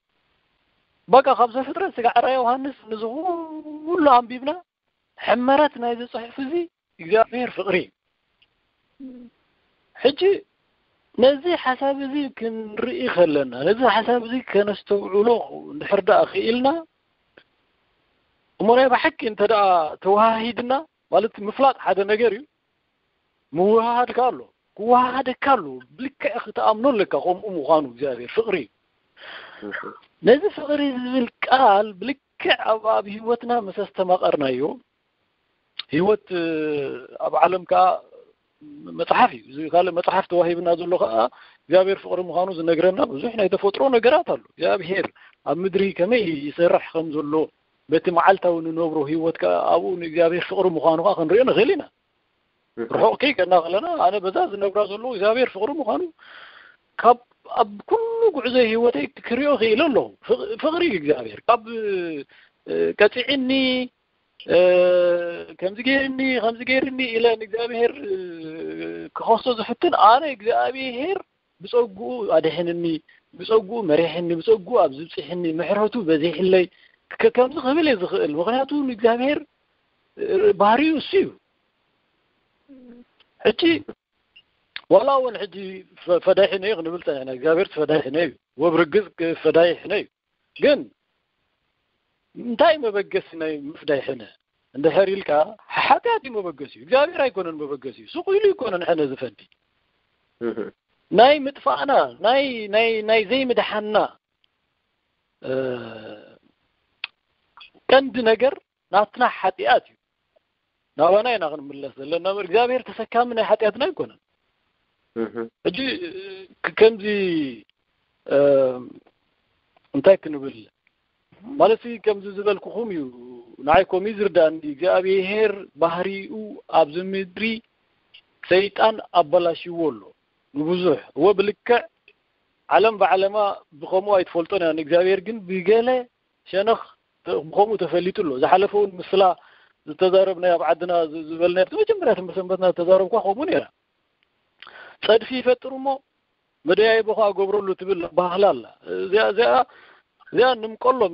በቃ ካብ ዘፍጥረት ስጋዕ ራእየ ዮሃንስ ንዚ ኩሉ ኣንቢብና፣ ሕመረት ናይዚ ጽሑፍ እዚ እግዚኣብሔር ፍቕሪ እዩ። ሕጂ ነዚ ሓሳብ እዚ ክንርኢ ከለና፣ ነዚ ሓሳብ እዚ ከነስተውዕሎ እንድሕር ደኣ ክኢልና፣ እሞ ናይ ብሓቂ እንተ ደኣ ተወሃሂድና፣ ማለት ምፍላጥ ሓደ ነገር እዩ፣ ምውሃሃድ ከኣ ኣሎ። ክወሃሃደካ ኣሎ። ብልክዕ ክትኣምኖ ኣለካ ከምኡ ምዃኑ እግዚኣብሔር ፍቕሪ እዩ። እሺ። ነዚ ፍቕሪ ዝብል ቃል ብልክዕ ኣብ፣ ኣብ ህይወትና ምስ ኣስተማቐርናዮ፣ ህይወት፣ እ፣ ኣብ ዓለም ከኣ መጽሓፍ እዩ። እዚ ካልእ መጽሓፍ ተዋሂብና ዘሎ ከኣ እግዚኣብሔር ፍቕሪ ምዃኑ ዝነግረና ብዙሕ ናይ ተፈጥሮ ነገራት ኣሎ። እግዚኣብሔር ኣብ ምድሪ ከመይ ይሰርሕ ከም ዘሎ፣ በቲ መዓልታዊ ንነብሮ ህይወት ከኣ ኣብኡ ንእግዚኣብሔር ፍቕሪ ምዃኑ ከኣ ክንሪኦ ንኽእል ኢና። እህ። ርሑቕ ከይከድና ከለና፣ ኣነ በዛ ዝነብራ ዘለኹ እግዚኣብሔር ፍቕሪ ምዃኑ ካብ፣ ኣብ ኩሉ ጉዕዞ ህይወተይ ክሪኦ ክኢለ ኣለኹ። ፍቕ-፣ ፍቕሪ እዩ እግዚኣብሔር። ካብ፣ እ፣ ቀጺዕኒ፣ እ፣ ከምዚ ገይርኒ፣ ከምዚ ገይርኒ ኢለ ንእግዚኣብሔር፣ እ፣ ክኸሶ ዝፍትን፣ ኣነ እግዚኣብሔር ብጸግኡ ኣድሕንኒ፣ ብጸግኡ መሪሕኒ፣ ብጸግኡ ኣብዚ ብጽሕኒ፣ ምሕረቱ በዚሕለይ፣ ከ-፣ ከምዚ ክብል እየ ዝኽእል። ምኽንያቱ ንእግዚኣብሔር፣ እ፣ ባህሪኡ እሱ እዩ። ሕጂ ዋላ እውን ሕጂ ፈ-፣ ፈዳሒ ነዩ ክንብል ጸኒሕና፣ እግዚኣብሔር ፈዳሒ ነዩ፣ ወብርግጽ ፈዳሒ ነዩ። ግን እንታይ መበገሲ ናይ ምፍዳይ ሕነ እንድሕር ኢልካ፣ ሓጢኣት እዩ መበገሲኡ፣ እግዚኣብሔር ኣይኮነን መበገሲኡ። ሱቕ ኢሉ ኣይኮነን ሕነ ዝፈዲ። እህ። ናይ ምጥፋእና፣ ናይ፣ ናይ፣ ናይ ዘይምድሓንና፣ እ፣ ቀንዲ ነገር ናትና ሓጢኣት እዩ። ናባና ኢና ክንምለስ ዘለና እምበር እግዚኣብሔር ተሰካሚ ናይ ሓጢኣትና ኣይኮነን። ሕጂ ከምዚ እንታይ ክንብል ማለት ከምዚ ዝበልኩኹም እዩ። ንዓይ ኮሚ ዝርዳእኒ እግዚኣብሔር ባህሪኡ ኣብዚ ምድሪ ሰይጣን ኣበላሽዎ ኣሎ ንብዙሕ እወ ብልክዕ ዓለም ብዓለማ ብኸምኡ ኣይትፈልጦን እያ። ንእግዚኣብሔር ግን ብገለ ሸነኽ ብኸምኡ ተፈሊጡ ኣሎ። ዝሓለፈ እውን ምስላ ዝተዛረብናዮ ኣብ ዓድና ዝበልናዮ መጀመርያ ትምህርቲ ሰንበትና ዝተዛረብኳ ከምኡ ነይራ። ጸድፊ ይፈጥር እሞ መደያይቦ ከዓ ገብረሉ ትብል ባህላ ኣላ። እዚኣ እዚኣ እዚኣ ንምቀሎም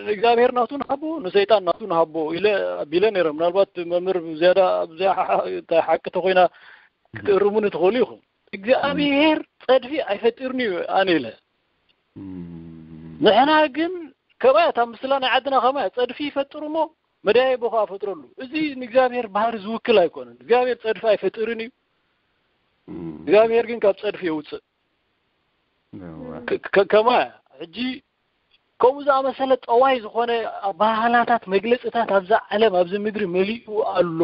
ንእግዚኣብሔር ናቱ ንሃቦ ንሰይጣን ናቱ ንሃቦ ኢለ ኣቢለ ነይረ። ምናልባት መምህር ዝያዳ ኣብዚኣ ሓቂ ተኮይና ክትእርሙኒ ትኽእሉ ኢኹም። እግዚኣብሔር ጸድፊ ኣይፈጢርኒ እዩ ኣነ ኢለ። ንሕና ግን ከማያ እታ ምስላ ናይ ዓድና ከማያ ጸድፊ ይፈጥር እሞ መደያይቦ ከዓ ፈጥረሉ። እዚ ንእግዚኣብሔር ባህሪ ዝውክል ኣይኮነን። እግዚኣብሔር ጸድፊ ኣይፈጥርን እዩ። እግዚኣብሔር ግን ካብ ጸድፊ የውፅእ። ከማያ ሕጂ ከምኡ ዝኣመሰለ ጠዋይ ዝኾነ ባህላታት መግለፅታት ኣብዛ ዓለም ኣብዚ ምድሪ መሊኡ ኣሎ።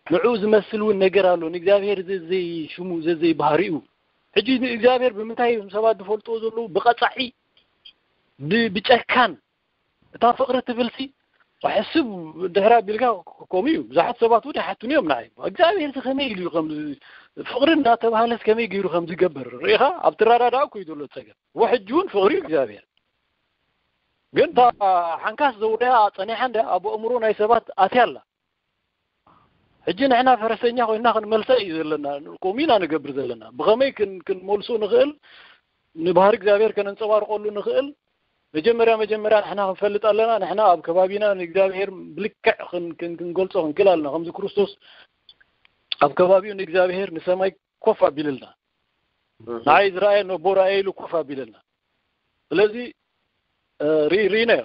ንዑ ዝመስል እውን ነገር ኣሎ። ንእግዚኣብሔር ዘዘይ ሽሙ ዘዘይ ባህሪኡ ሕጂ ንእግዚኣብሔር ብምንታይ እዮም ሰባት ዝፈልጥዎ ዘለዉ? ብቐፃዒ ብጨካን እታ ፍቕሪ ትብልሲ ሕስብ ድሕሪ ኣቢልካ ከምኡ እዩ። ብዙሓት ሰባት እውን ይሓቱኒ እዮም ንዓይ እግዚኣብሔር ከመይ ኢሉ ከም ፍቕሪ እናተባህለስ ከመይ ገይሩ ከም ዝገብር ርኢኻ ኣብ ትረዳዳእ እኮ እዩ ዘሎ ፀገም። ወሕጂ እውን ፍቕሪ እዩ እግዚኣብሔር ግን እታ ሓንካስ ዘውርያ ፀኒሓ እንደ ኣብ ኣእምሮ ናይ ሰባት ኣትያ ኣላ። ሕጂ ንሕና ፈረሰኛ ኮይና ክንመልሰ እዩ ዘለና። ከምኡ ኢና ንገብር ዘለና። ብኸመይ ክንመልሶ ንኽእል ንባህሪ እግዚኣብሔር ከነንፀባርቀሉ ንኽእል መጀመርያ መጀመርያ ንሕና ክንፈልጥ ኣለና። ንሕና ኣብ ከባቢና ንእግዚኣብሔር ብልክዕ ክንገልጾ ክንክእል ኣለና። ከምዚ ክርስቶስ ኣብ ከባቢኡ ንእግዚኣብሔር ንሰማይ ኮፍ ኣቢልልና ንዓይ ዝረኣየ ነቦ ረኣየ ኢሉ ኮፍ ኣቢልልና። ስለዚ ርኢናዮ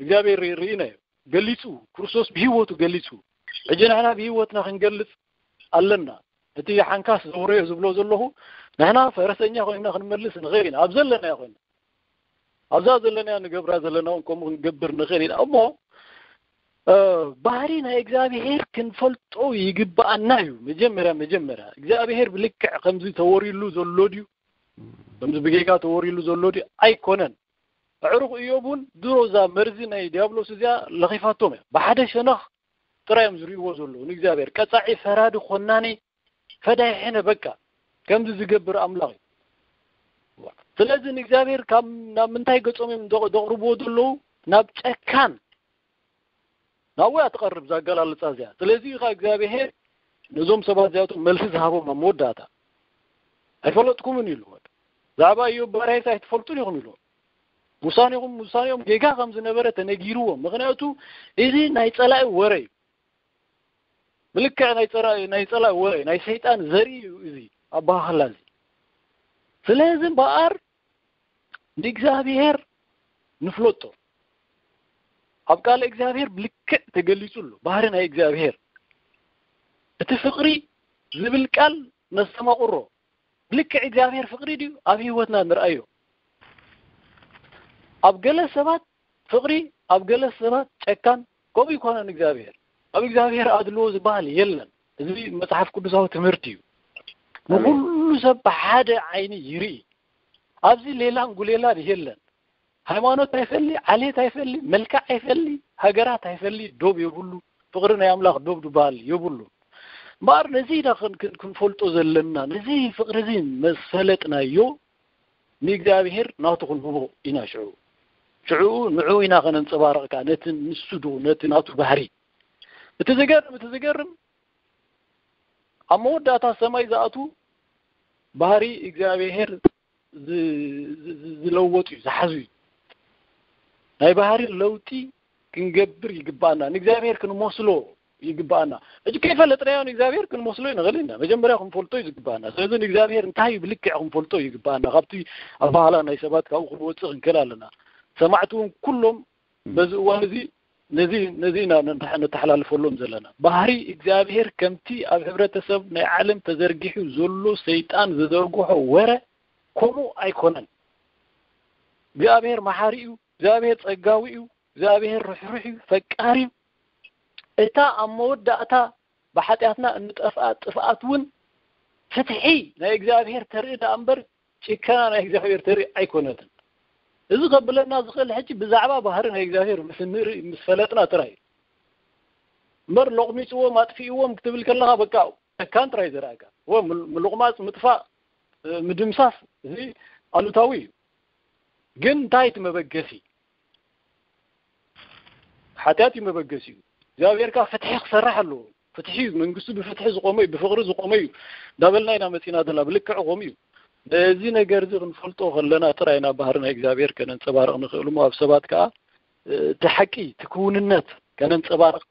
እግዚኣብሔር ርኢናዮ ገሊጹ ክርስቶስ ብህይወቱ ገሊጹ። ሕጂ ንሕና ብህይወትና ክንገልጽ ኣለና። እቲ ሓንካስ ዘውረዮ ዝብሎ ዘለኹ ንሕና ፈረሰኛ ኮይና ክንመልስ ንኽእል ኢና። ኣብ ዘለናዮ ኮይና ኣብዛ ዘለናዮ ንገብራ ዘለና እውን ከምኡ ክንገብር ንኽእል ኢና። እሞ ባህሪ ናይ እግዚኣብሄር ክንፈልጦ ይግብኣና እዩ። መጀመርያ መጀመርያ እግዚኣብሄር ብልክዕ ከምዚ ተወሪሉ ዘሎ ድዩ? ከምዚ ብጌጋ ተወሪሉ ዘሎ ድዩ? ኣይኮነን። ኣዕሩኽ እዮብ እውን ድሮ እዛ መርዚ ናይ ዲያብሎስ እዚኣ ለኺፋቶም እያ። ብሓደ ሸነኽ ጥራይ እዮም ዝርእይዎ ዘለዉ ንእግዚኣብሔር ቀጻዒ ፈራዲ ኮናኒ ፈዳይ ሕነ በቃ ከምዚ ዝገብር ኣምላኽ እዩ። ስለዚ ንእግዚኣብሔር ካብ ናብ ምንታይ ገጾም እዮም ዘቕርብዎ ዘለዉ? ናብ ጨካን ናብኡ እያ ትቐርብ እዛ ኣገላልጻ እዚኣ። ስለዚ እዩ ከዓ እግዚኣብሔር ነዞም ሰባት እዚኣቶም መልሲ ዝሃቦም ኣብ መወዳእታ ኣይፈለጥኩምን እዩ ኢልዎ። ብዛዕባ እዮብ ባርያይስ ኣይትፈልጡን ኢኹም ኢልዎ። ውሳኔኹም ውሳኔኦም ጌጋ ከም ዝነበረ ተነጊርዎም። ምኽንያቱ እዚ ናይ ጸላኢ ወረ እዩ። ብልክዕ ናይ ጸላኢ ናይ ጸላኢ ወረ ናይ ሰይጣን ዘርኢ እዩ እዚ ኣባሃህላ እዚ። ስለዚ እምበኣር ንእግዚኣብሔር ንፍለጦ። ኣብ ቃል እግዚኣብሔር ብልክዕ ተገሊጹ ኣሎ ባህሪ ናይ እግዚኣብሔር። እቲ ፍቕሪ ዝብል ቃል ነስተማቕሮ። ብልክዕ እግዚኣብሔር ፍቕሪ ድዩ ኣብ ህይወትና ንርኣዮ? ኣብ ገለ ሰባት ፍቕሪ ኣብ ገለ ሰባት ጨካን ከምኡ ይኮነን እግዚኣብሔር። ኣብ እግዚኣብሔር ኣድልዎ ዝበሃል የለን። እዚ መጽሓፍ ቅዱሳዊ ትምህርቲ እዩ። ንኩሉ ሰብ ብሓደ ዓይኒ ይርኢ። ኣብዚ ሌላን ጉሌላን የለን። ሃይማኖት ኣይፈሊ፣ ዓሌት ኣይፈሊ፣ መልክዕ ኣይፈሊ፣ ሃገራት ኣይፈሊ፣ ዶብ የብሉ። ፍቕሪ ናይ ኣምላኽ ዶብ ዝበሃል የብሉ። እምበኣር ነዚ ኢና ክንፈልጦ ዘለና። ነዚ ፍቕሪ እዚ መሰለጥናዮ ንእግዚኣብሔር ናቱ ክንህቦ ኢና። ሽዑ ሽዑ ንዕኡ ኢና ከነንጸባርቕ ከኣ ነቲ ንሱ ዶ ነቲ ናቱ ባህሪ። እቲ ዝገርም እቲ ዝገርም ኣብ መወዳእታ ሰማይ ዝኣቱ ባህሪ እግዚኣብሔር ዝለወጡ እዩ ዝሓዙ እዩ። ናይ ባህሪ ለውጢ ክንገብር ይግባኣና። ንእግዚኣብሔር ክንመስሎ ይግባኣና። ሕጂ ከይፈለጥናዮ ንእግዚኣብሔር ክንመስሎ ንኽእል ኢና። መጀመርያ ክንፈልጦ እዩ ዝግባኣና። ስለዚ ንእግዚኣብሔር እንታይ እዩ ብልክዕ ክንፈልጦ እዩ ይግባኣና። ካብቲ ኣባህላ ናይ ሰባት ካብኡ ክንወፅእ ክንክእል ኣለና። ሰማዕቲ እውን ኩሎም በዚ እዋን እዚ ነዚ ነዚ ኢና ነተሓላልፈሎም ዘለና። ባህሪ እግዚኣብሔር ከምቲ ኣብ ሕብረተሰብ ናይ ዓለም ተዘርጊሑ ዘሎ ሰይጣን ዝዘርግሖ ወረ ከምኡ ኣይኮነን። እግዚኣብሔር መሓሪ እዩ። እግዚኣብሔር ጸጋዊ እዩ። እግዚኣብሔር ርሕሩሕ እዩ፣ ፈቃር እዩ። እታ ኣብ መወዳእታ ብሓጢኣትና እንጠፍኣ ጥፍኣት እውን ፍትሒ ናይ እግዚኣብሔር ተርኢ ደኣ እምበር ጭከና ናይ እግዚኣብሔር ተርኢ ኣይኮነትን። እዚ ከብለና ዝኽእል ሕጂ ብዛዕባ ባህሪ ናይ እግዚኣብሔር ምስ እንርኢ ምስ ፈለጥና ጥራይ እዩ። እምበር ሎቕሚፅዎም ኣጥፊእዎም ክትብል ከለኻ በቃ ጨካን ጥራይ ዘርኣካ። እወ፣ ምል- ምልቑማፅ፣ ምጥፋእ፣ እ፣ ምድምሳስ፣ እዚ ኣሉታዊ እዩ። ግን እንታይ እቲ መበገሲ? ሓጢኣት እዩ መበገሲኡ። እግዚኣብሔር ከዓ ፍትሒ ክሰርሕ ኣለዎ። ፍትሒ እዩ፣ መንግስቱ ብፍትሒ ዝቆመ እዩ፣ ብፍቅሪ ዝቆመ እዩ እንዳበልና ኢና መፂና ዘለና። ብልክዕ ከምኡ እዩ። ነዚ ነገር እዚ ክንፈልጦ ከለና ጥራይ ኢና ባህሪ ናይ እግዚኣብሔር ከነንፀባርቕ ንኽእል እሞ፣ ኣብ ሰባት ከዓ እቲ ሓቂ፣ እቲ ክውንነት ከነንፀባርቕ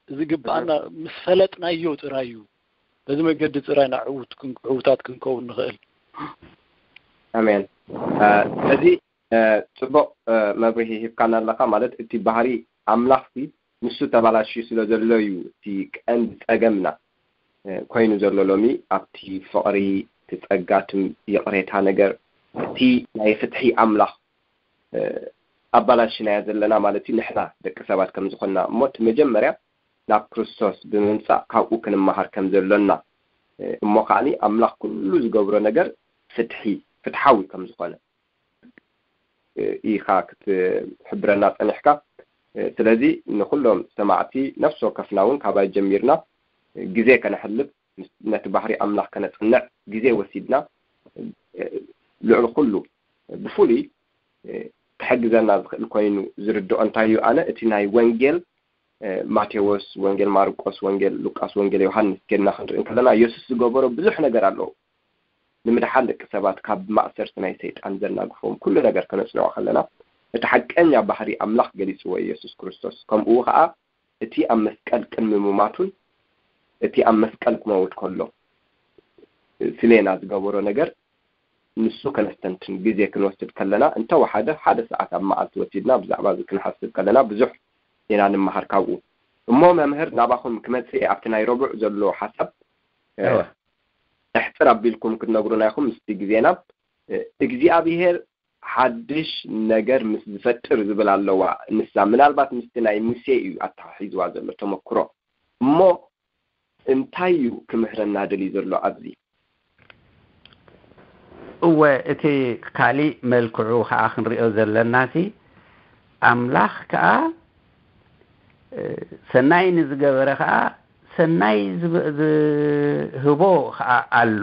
ዝግብኣና ምስ ፈለጥናዮ ጥራይ እዩ። በዚ መገዲ ጥራይ ኢና ዕዉት ክን- ዕዉታት ክንከውን ንኽእል። ኣሜን። ስለዚ ጽቡቕ መብርሂ ሂብካና ኣለኻ። ማለት እቲ ባህሪ ኣምላኽሲ ንሱ ተባላሽዩ ስለ ዘሎ እዩ እቲ ቀንዲ ጸገምና ኮይኑ ዘሎ ሎሚ። ኣብቲ ፍቕሪ፣ እቲ ጸጋ፣ እቲ ይቕሬታ ነገር፣ እቲ ናይ ፍትሒ ኣምላኽ ኣባላሽናዮ ዘለና ማለት እዩ። ንሕና ደቂ ሰባት ከም ዝኾንና እሞ እቲ መጀመርያ ናብ ክርስቶስ ብምምጻእ ካብኡ ክንመሃር ከም ዘሎና እሞ ከዓኒ ኣምላኽ ኩሉ ዝገብሮ ነገር ፍትሒ ፍትሓዊ ከም ዝኾነ ኢኻ ክትሕብረና ጸኒሕካ። ስለዚ ንኹሎም ሰማዕቲ ነፍሲ ወከፍና እውን ካባይ ጀሚርና ግዜ ከነሕልፍ፣ ነቲ ባህሪ ኣምላኽ ከነጽንዕ ግዜ ወሲድና ልዕሊ ኩሉ ብፍሉይ ክሕግዘና ዝኽእል ኮይኑ ዝርድኦ እንታይ እዩ? ኣነ እቲ ናይ ወንጌል ማቴዎስ፣ ወንጌል ማርቆስ፣ ወንጌል ሉቃስ፣ ወንጌል ዮሃንስ ኬድና ክንርኢ እንከለና የሱስ ዝገበሮ ብዙሕ ነገር ኣለዉ። ንምድሓን ደቂ ሰባት ካብ ማእሰርቲ ናይ ሰይጣን ዘናግፎም ኩሉ ነገር ከነጽንዖ ከለና እቲ ሓቀኛ ባህሪ ኣምላኽ ገሊጽዎ የሱስ ክርስቶስ። ከምኡ ከኣ እቲ ኣብ መስቀል ቅድሚ ምማቱን እቲ ኣብ መስቀል ክመውት ከሎ ስሌና ዝገበሮ ነገር ንሱ ከነስተንትን ግዜ ክንወስድ ከለና እንተወሓደ ሓደ ሰዓት ኣብ መዓልቲ ወሲድና ብዛዕባ እዚ ክንሓስብ ከለና ብዙሕ ኢና ንመሃር ካብኡ። እሞ መምህር ናባኹም ክመጽእ እየ ኣብቲ ናይ ረቡዕ ዘሎ ሓሳብ እወ። እሕጽር ኣቢልኩም ክትነግሩና ኢኹም ምስቲ ግዜና እግዚኣብሔር ሓድሽ ነገር ምስ ዝፈጥር ዝብል ኣለዋ። ንሳ ምናልባት ምስቲ ናይ ሙሴ እዩ ኣተሓሒዝዋ ዘሎ ተመክሮ። እሞ እንታይ እዩ ክምህረና ደልዩ ዘሎ ኣብዚ? እወ፣ እቲ ካሊእ መልክዑ ከዓ ክንሪኦ ዘለናሲ ኣምላኽ ከዓ ሰናይ ንዝገበረ ከዓ ሰናይ ዝህቦ ከዓ ኣሎ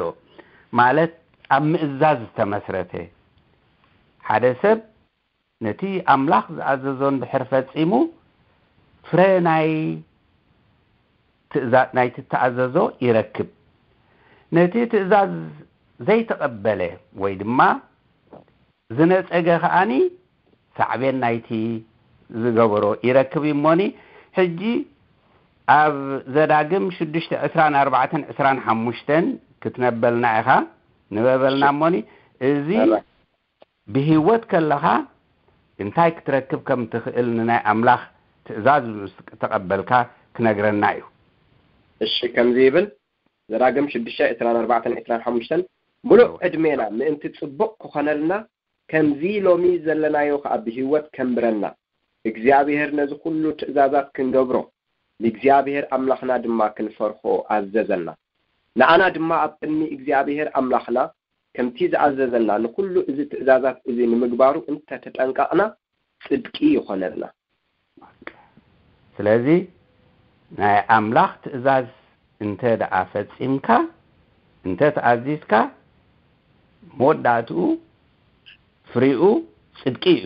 ማለት ኣብ ምእዛዝ ዝተመስረተ ሓደ ሰብ ነቲ ኣምላኽ ዝኣዘዞ እንድሕር ፈጺሙ ፍረ ናይ ትእዛ- ናይቲ እተኣዘዞ ይረክብ። ነቲ ትእዛዝ ዘይተቐበለ ወይ ድማ ዝነጸገ ከኣኒ ሳዕቤን ናይቲ ዝገበሮ ይረክብ እዩ እሞኒ ሕጂ ኣብ ዘዳግም ሽዱሽተ ዕስራን ኣርባዕተን ዕስራን ሓሙሽተን ክትነበልና ኢኻ ንበበልና እሞኒ እዚ ብህይወት ከለኻ እንታይ ክትረክብ ከም ትኽእል ንናይ ኣምላኽ ትእዛዝ ምስ ተቐበልካ ክነግረና እዩ። እሺ ከምዚ ይብል ዘዳግም ሽዱሽተ ዕስራን ኣርባዕተን ዕስራን ሓሙሽተን ሙሉእ ዕድሜና ምእንቲ ጽቡቕ ክኾነልና ከምዚ ሎሚ ዘለናዮ ከኣ ብህይወት ከንብረና እግዚኣብሔር ነዚ ኩሉ ትእዛዛት ክንገብሮ ንእግዚኣብሔር ኣምላኽና ድማ ክንፈርሆ ኣዘዘና። ንኣና ድማ ኣብ ቅድሚ እግዚኣብሔር ኣምላኽና ከምቲ ዝኣዘዘና ንኹሉ እዚ ትእዛዛት እዚ ንምግባሩ እንተ ተጠንቀቕና ጽድቂ ይኾነልና። ስለዚ ናይ ኣምላኽ ትእዛዝ እንተ ደኣ ፈጺምካ እንተ ተኣዚዝካ መወዳእትኡ ፍሪኡ ጽድቂ እዩ።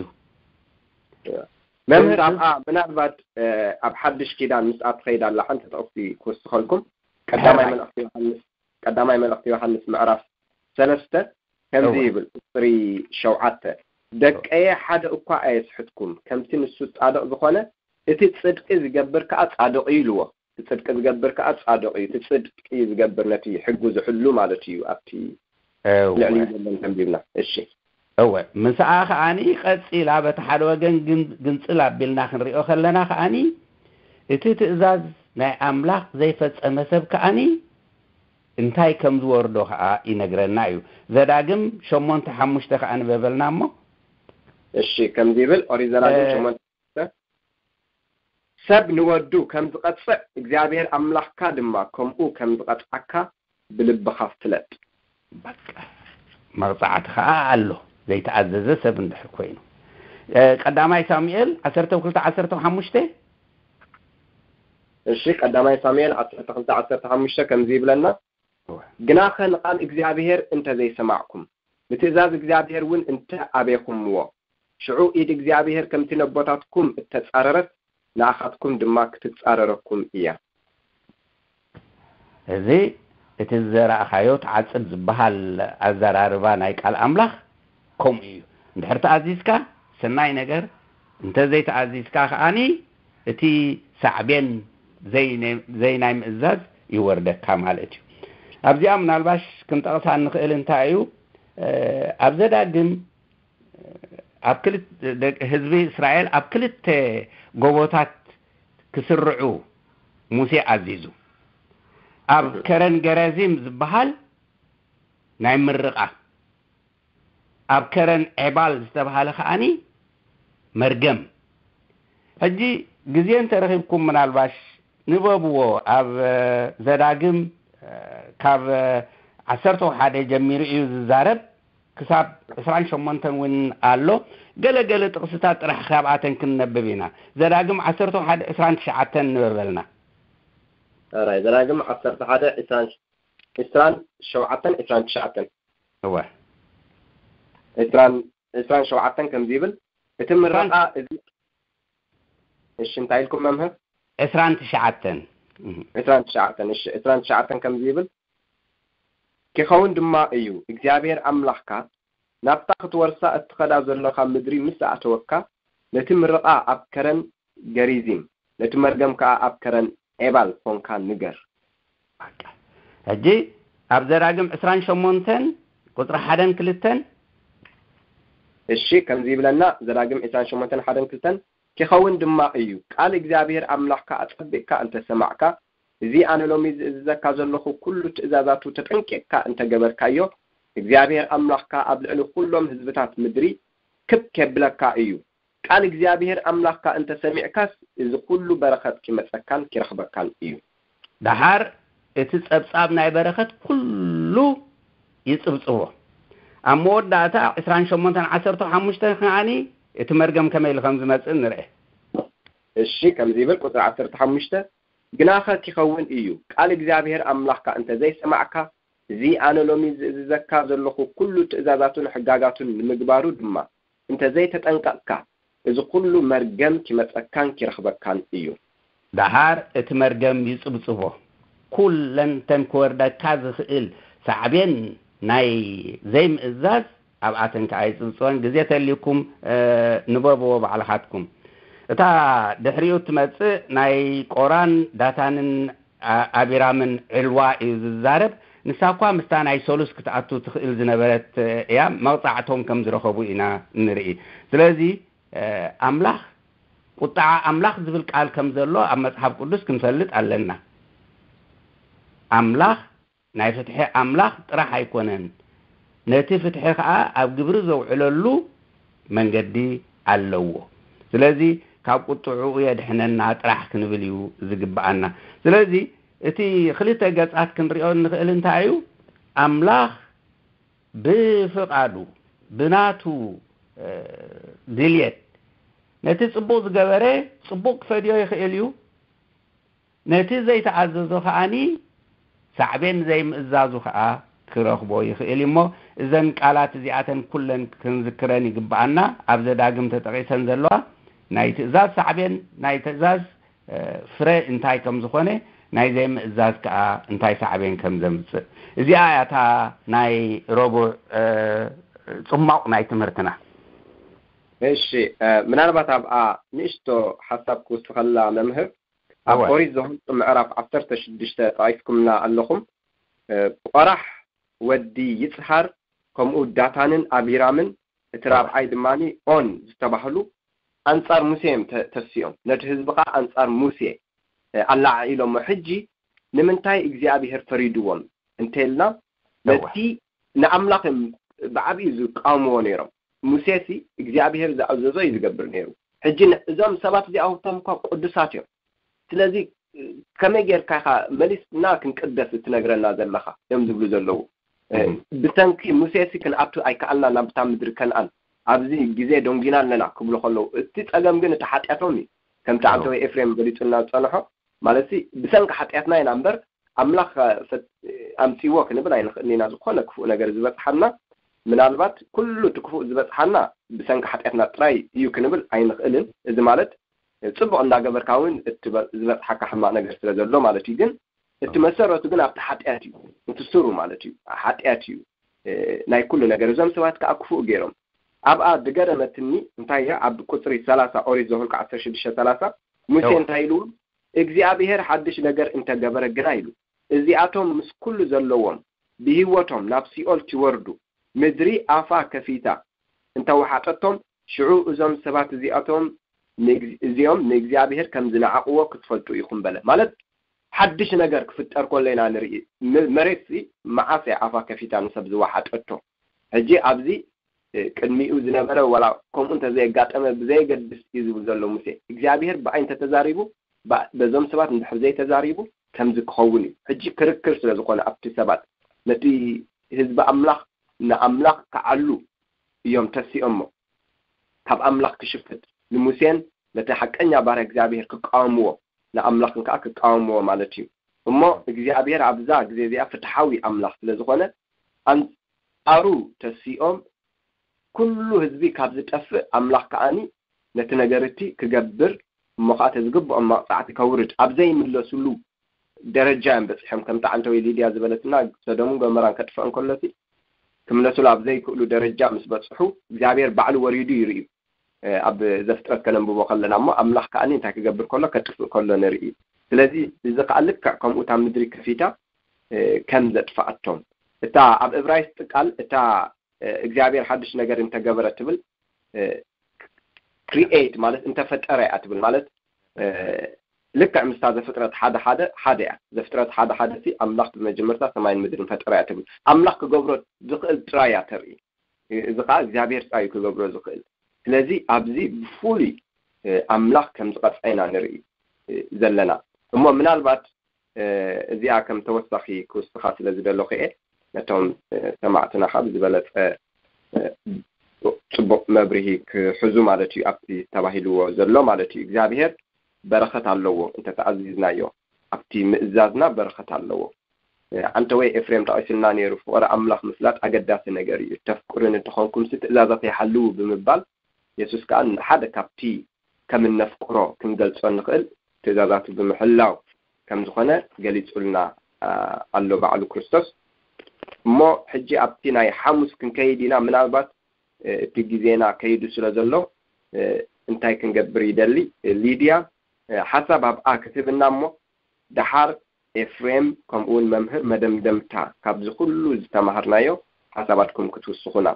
መምህር ኣብኣ ምናልባት ኣብ ሓድሽ ኪዳን ምስኣ ትኸይድ ኣላ ሓንቲ ጥቕሲ ክውስኸልኩም ቀዳማይ መልእኽቲ ዮሃንስ ቀዳማይ መልእኽቲ ዮሃንስ ምዕራፍ ሰለስተ ከምዚ ይብል ቁፅሪ ሸውዓተ ደቀየ ሓደ እኳ ኣየስሕትኩም ከምቲ ንሱ ፃድቕ ዝኾነ እቲ ፅድቂ ዝገብር ከዓ ፃድቕ እዩ ኢልዎ እቲ ፅድቂ ዝገብር ከዓ ፃድቕ እዩ እቲ ፅድቂ ዝገብር ነቲ ሕጉ ዝሕሉ ማለት እዩ ኣብቲ ልዕሊ ዘሎ ተንቢብና እሺ እወ ምስኣ ከዓኒ ቀፂላ በቲ ሓደ ወገን ግንፅል ኣቢልና ክንሪኦ ከለና ከዓኒ እቲ ትእዛዝ ናይ ኣምላኽ ዘይፈፀመ ሰብ ከዓኒ እንታይ ከም ዝወርዶ ከዓ ይነግረና እዩ። ዘዳግም ሸሞንተ ሓሙሽተ ከዓ ንበበልና እሞ። እሺ ከምዚ ይብል ኦሪት ዘዳግም ሸሞንተ ሰብ ንወዱ ከም ዝቐጽዕ እግዚኣብሔር ኣምላኽካ ድማ ከምኡ ከም ዝቐጽዓካ ብልብኻ ፍለጥ። በቃ መቕጻዕቲ ኸዓ ኣሎ፣ ዘይተኣዘዘ ሰብ እንድሕር ኮይኑ። እ፣ ቀዳማይ ሳሙኤል ዓሰርተ ክልተ ዓሰርተ ሓሙሽተ። እሺ፣ ቀዳማይ ሳሙኤል ዓሰርተ ክልተ ዓሰርተ ሓሙሽተ ከምዚ ይብለና፣ "ግናኸ ንቓል እግዚኣብሔር እንተ ዘይሰማዕኩም፣ ንትእዛዝ እግዚኣብሔር እውን እንተ ኣቤኹምዎ፣ ሽዑ ኢድ እግዚኣብሔር ከምቲ ነቦታትኩም እተጻረረት ንኣኻትኩም ድማ ክትጻረረኩም እያ።" እዚ እቲ ዝዘራእኻዮ ትዓጽድ ዝበሃል ኣዘራርባ ናይ ቃል ኣምላኽ ከምኡ እዩ። እንድሕር ተኣዚዝካ ሰናይ ነገር፣ እንተ ዘይተኣዚዝካ ከኣኒ እቲ ሳዕቤን ዘይ-፣ ዘይናይ ምእዛዝ ይወርደካ ማለት እዩ። ኣብዚኣ ምናልባሽ ክንጠቕሳ እንኽእል እንታይ እዩ? እ፣ ኣብ ዘዳግም ኣብ ክልተ፣ ደቂ ህዝቢ እስራኤል ኣብ ክልተ ጎቦታት ክስርዑ ሙሴ ኣዚዙ። ኣብ ከረን ገረዚም ዝበሃል ናይ ምርቓ፣ ኣብ ከረን ዔባል ዝተባሃለ ከኣኒ መርገም። ሕጂ ግዜ እንተረኺብኩም ምናልባሽ ንበብዎ። ኣብ፣ እ፣ ዘዳግም፣ እ፣ ካብ፣ እ፣ ዓሰርተ ሓደ ጀሚሩ እዩ ዝዛረብ፣ ክሳብ ዕስራን ሸሞንተን እውን ኣሎ። ገለ ገለ ጥቕስታት ጥራሕ ካብኣተን ክንነብብ ኢና። ዘዳግም ዓሰርተ ሓደ ዕስራን ትሽዓተን ንበበልና። ኣራይ፣ ዘዳግም ዓሰርተ ሓደ ዕስራን፣ ዕስራን ሸውዓተን ዕስራን ትሽዓተን። እወ። ዕስራን፣ ዕስራን ሸውዓተን ከምዚ ይብል፣ እቲ ምረቓ እዚ፣ እሺ፣ እንታይ ኢልኩም መምህር? ዕስራን ትሽዓተን። እህ። ዕስራን ትሽዓተን፣ እሺ፣ ዕስራን ትሽዓተን ከምዚ ይብል፣ "ክኸውን ድማ እዩ፣ እግዚኣብሔር ኣምላኽካ ናብታ ክትወርሳ እትኸዳ ዘለኻ ምድሪ ምስ ኣእተወካ፣ ነቲ ምርቓ ኣብ ከረን ገሪዚም፣ ነቲ መርገም ከኣ ኣብ ከረን ዔባል ኾንካ ንገር።" በቃ። ሕጂ ኣብ ዘዳግም ዕስራን ሸሞንተን ቁጽሪ ሓደን ክልተን። እሺ፣ ከምዚ ይብለና፣ ዘዳግም ዕስራን ሸሞንተን ሓደን ክልተን፣ "ክኸውን ድማ እዩ፣ ቃል እግዚኣብሔር ኣምላኽካ ኣጸቢቕካ እንተ ሰማዕካ፣ እዚ ኣነ ሎሚ ዝእዝዘካ ዘለኹ ኩሉ ትእዛዛቱ ተጠንቂቕካ እንተ ገበርካዮ፣ እግዚኣብሔር ኣምላኽካ ኣብ ልዕሊ ኩሎም ህዝብታት ምድሪ ክብ ኬብለካ እዩ። ቃል እግዚኣብሔር ኣምላኽካ እንተ ሰሚዕካስ፣ እዚ ኩሉ በረኸት ኪመጸካን ኪረኽበካን እዩ።" ደሓር እቲ ጸብጻብ ናይ በረኸት ኩሉ ይጽብጽቦ። ኣብ መወዳእታ ዕስራን ሸሞንተን ዓሰርተ ሓሙሽተን ከኣኒ እቲ መርገም ከመይ ኢሉ ከም ዝመጽእ ንርአ። እሺ፣ ከምዚ ይብል ቁጽሪ ዓሰርተ ሓሙሽተ፣ "ግናኸ ኪኸውን እዩ፣ ቃል እግዚኣብሔር ኣምላኽካ እንተ ዘይሰማዕካ፣ እዚ ኣነ ሎሚ ዝእዝዘካ ዘለኹ ኩሉ ትእዛዛቱን ሕጋጋቱን ንምግባሩ ድማ እንተ ዘይተጠንቀቕካ፣ እዚ ኩሉ መርገም ኪመጸካን ኪረኽበካን እዩ።" ደሓር እቲ መርገም ይጽብጽቦ። ኩለን ተን ክወርደካ ዝኽእል ሳዕቤን ናይ ዘይምእዛዝ ኣብኣተን ከኣ ይጽብጽበን። ግዜ ተልዩኩም፣ እ፣ ንበብዎ ባዕልኻትኩም። እታ ድሕሪኡ እትመጽእ ናይ ቆራን ዳታንን ኣ-፣ ኣቢራምን ዕልዋ እዩ ዝዛረብ። ንሳ እኳ ምስታ ናይ ሰሉስ ክትኣቱ ትኽእል ዝነበረት እያ። መቕጻዕቶም ከም ዝረኸቡ ኢና ንርኢ። ስለዚ፣ እ፣ ኣምላኽ፣ ቁጥዓ ኣምላኽ ዝብል ቃል ከም ዘሎ ኣብ መጽሓፍ ቅዱስ ክንፈልጥ ኣለና። ኣምላኽ ናይ ፍትሒ ኣምላኽ ጥራሕ ኣይኮነን፣ ነቲ ፍትሒ ኸኣ ኣብ ግብሪ ዘውዕለሉ መንገዲ ኣለዎ። ስለዚ ካብ ቁጥዕኡ የድሕነና ጥራሕ ክንብል እዩ ዝግብኣና። ስለዚ እቲ ክልተ ገጻት ክንሪኦ እንኽእል እንታይ እዩ? ኣምላኽ ብፍቓዱ፣ ብናቱ፣ እ፣ ድልየት ነቲ ጽቡቕ ዝገበረ ጽቡቕ ክፈድዮ ይኽእል እዩ። ነቲ ዘይተኣዘዞ ከኣኒ ሳዕቤን ዘይምእዛዙ ከኣ ክረኽቦ ይኽእል እዩ። እሞ እዘን ቃላት እዚኣተን ኩለን ክንዝክረን ይግብኣና። ኣብ ዘዳግም ተጠቒሰን ዘለዋ ናይ ትእዛዝ ሳዕቤን፣ ናይ ትእዛዝ፣ እ፣ ፍረ እንታይ ከም ዝኾነ፣ ናይ ዘይምእዛዝ ከኣ እንታይ ሳዕቤን ከም ዘምጽእ። እዚኣ እያ እታ ናይ ረቡዕ፣ እ፣ ጽማቕ ናይ ትምህርትና። እሺ፣ እ፣ ምናልባት ኣብኣ ንእሽቶ ሓሳብ ክውስኸላ መምህር፣ ኣብ እወ። ኦሪት ዘኍልቍ ምዕራፍ ዓሰርተ ሽዱሽተ ጠቒስኩምና ኣለኹም። እ፣ ቆራሕ ወዲ ይጽሃር፣ ከምኡ ዳታንን ኣቢራምን፣ እቲ እወ። ራብዓይ ድማኒ ኦን ዝተባህሉ ኣንጻር ሙሴ እዮም ተ-፣ ተሲኦም። ነቲ ህዝቢ ኸኣ ኣንጻር ሙሴ፣ እ፣ ኣለዓዒሎሞ። ሕጂ ንምንታይ እግዚኣብሄር ፈሪድዎም እንተኢልና፣ እወ። ነቲ ንኣምላኽ እዮም ብዓቢኡ ዝቃወምዎ ነይሮም። ሙሴሲ እግዚኣብሄር ዝኣዘዞ እዩ ዝገብር ነይሩ። ሕጂ ን- እዞም ሰባት እዚኣቶም እኳ ቅዱሳት እዮም። ስለዚ ከመይ ጌርካ ኢኻ መሊስና ክንቅደስ እትነግረና ዘለኻ እዮም ዝብሉ ዘለዉ። ብሰንኪ ሙሴሲ ክንኣቱ ኣይከኣልና ናብ እታ ምድሪ ከነኣን፣ ኣብዚ ግዜ ደንጊና ኣለና ክብሉ ከለዉ፣ እቲ ጸገም ግን እቲ ሓጢኣቶም እዩ። ከምቲ ዓንተወይ ኤፍሬም ገሊጹልና ዝጸንሖ ማለት ሲ ብሰንኪ ሓጢኣትና ኢና እምበር ኣምላኽ ኣምጺዎ ክንብል ኣይንኽእልን ኢና። ዝኾነ ክፉእ ነገር ዝበጽሓና ምናልባት ኩሉ እቲ ክፉእ ዝበጽሓና ብሰንኪ ሓጢኣትና ጥራይ እዩ ክንብል ኣይንኽእልን። እዚ ማለት ጽቡቕ እንዳገበርካ እውን እቲ ዝበጽሓካ ሕማቕ ነገር ስለ ዘሎ ማለት እዩ። ግን እቲ መሰረቱ ግን ኣብቲ ሓጢኣት እዩ፣ እቲ ስሩ ማለት እዩ። ሓጢኣት እዩ ናይ ኩሉ ነገር። እዞም ሰባት ከዓ ክፉእ ገይሮም ኣብኣ ዝገረመትኒ እንታይ እያ? ኣብ ቁፅሪ ሰላሳ ኦሪት ዘኍልቁ ዓሰርተ ሽዱሽተ ሰላሳ ሙሴ እንታይ ኢሉ? እግዚኣብሔር ሓድሽ ነገር እንተገበረ ግና ኢሉ፣ እዚኣቶም ምስ ኩሉ ዘለዎም ብህይወቶም ናብ ሲኦል ትወርዱ፣ ምድሪ ኣፋ ከፊታ እንተወሓጠቶም፣ ሽዑ እዞም ሰባት እዚኣቶም እዚኦም ንእግዚኣብሔር ከም ዝነዓቕዎ ክትፈልጡ ኢኹም በለ። ማለት ሓድሽ ነገር ክፍጠር ከሎ ኢና ንርኢ። መሬት ሲ መዓስ እያ ኣፋ ከፊታ ንሰብ ዝወሓጠቶ? ሕጂ ኣብዚ ቅድሚኡ ዝነበረ ዋላ ከምኡ እንተዘየጋጠመ ብዘየገድስ እዩ ዝብል ዘሎ ሙሴ። እግዚኣብሔር ብኣይ እንተተዛሪቡ፣ በዞም ሰባት እንድሕር ዘይተዛሪቡ ከምዚ ክኸውን እዩ። ሕጂ ክርክር ስለ ዝኾነ ኣብቲ ሰባት ነቲ ህዝቢ ኣምላኽ ንኣምላኽ ክዓሉ እዮም ተሲኦሞ። ካብ ኣምላኽ ክሽፍት ንሙሴን ነቲ ሓቀኛ ባርያ እግዚኣብሔር ክቃወምዎ ንኣምላኽን ከዓ ክቃወምዎ ማለት እዩ። እሞ እግዚኣብሔር ኣብዛ ግዜ እዚኣ ፍትሓዊ ኣምላኽ ስለ ዝኾነ ኣንጻሩ ተሲኦም ኩሉ ህዝቢ ካብ ዝጠፍእ ኣምላኽ ከዓኒ ነቲ ነገር እቲ ክገብር እሞ ከዓ ተዝግብኦም መቕጻዕቲ ከውርድ ኣብ ዘይምለሱሉ ደረጃ እዮም በፂሖም። ከምቲ ዓንተወይ ሊድያ ዝበለትና ሰዶምን ጎመራን ከጥፍኦ እንከሎ እቲ ክምለሱሉ ኣብ ዘይክእሉ ደረጃ ምስ በፅሑ እግዚኣብሔር ባዕሉ ወሪዱ ይርእዩ። ኣብ ዘፍጥረት ከነንብቦ ከለና እሞ ኣምላኽ ከዓኒ እንታይ ክገብር ከሎ ከጥፍእ ከሎ ንርኢ። ስለዚ እዚ ከዓ ልክዕ ከምኡ እታ ምድሪ ከፊታ ከም ዘጥፍኣቶም እታ ኣብ እብራይስጥ ቃል እታ እግዚኣብሔር ሓድሽ ነገር እንተገበረ ትብል ክሪኤት ማለት እንተፈጠረ እያ ትብል ማለት ልክዕ ምስታ ዘፍጥረት ሓደ ሓደ ሓደ እያ። ዘፍጥረት ሓደ ሓደ ሲ ኣምላኽ ብመጀመርታ ሰማይን ምድርን ፈጠረ እያ ትብል። ኣምላኽ ክገብሮ ዝኽእል ጥራይ እያ ተርኢ። እዚ ከዓ እግዚኣብሔር ጥራይ ክገብሮ ዝኽእል። ስለዚ ኣብዚ ብፍሉይ ኣምላኽ ከም ዝቐፅዐ ኢና ንርኢ ዘለና። እሞ ምናልባት እዚኣ ከም ተወሳኺ ክውስኻ ስለ ዝደለኹ እየ ነቶም ሰማዕትና ካብ ዝበለፀ ፅቡቕ መብርሂ ክሕዙ ማለት እዩ። ኣብቲ ተባሂልዎ ዘሎ ማለት እዩ። እግዚኣብሔር በረኸት ኣለዎ እንተተኣዚዝናዮ፣ ኣብቲ ምእዛዝና በረኸት ኣለዎ። ኣንተ ወይ ኤፍሬም ጠቒስልና ነይሩ፣ ፍቕሪ ኣምላኽ ምፍላጥ ኣገዳሲ ነገር እዩ። ተፍቅሩኒ እንተኾንኩምሲ ትእዛዛተይ ሓልዉ ብምባል የሱስ ከኣ ሓደ ካብቲ ከም እነፍቅሮ ክንገልጾ እንኽእል ትእዛዛቱ ብምሕላው ከም ዝኾነ ገሊጹልና ኣሎ ባዕሉ ክርስቶስ። እሞ ሕጂ ኣብቲ ናይ ሓሙስ ክንከይድ ኢና። ምናልባት እቲ ግዜና ከይዱ ስለ ዘሎ እንታይ ክንገብር ይደሊ? ሊድያ ሓሳብ ኣብኣ ክትህብና እሞ ደሓር ኤፍሬም ከምኡ እውን መምህር መደምደምታ ካብዚ ኩሉ ዝተማሃርናዮ ሓሳባትኩም ክትውስኹና።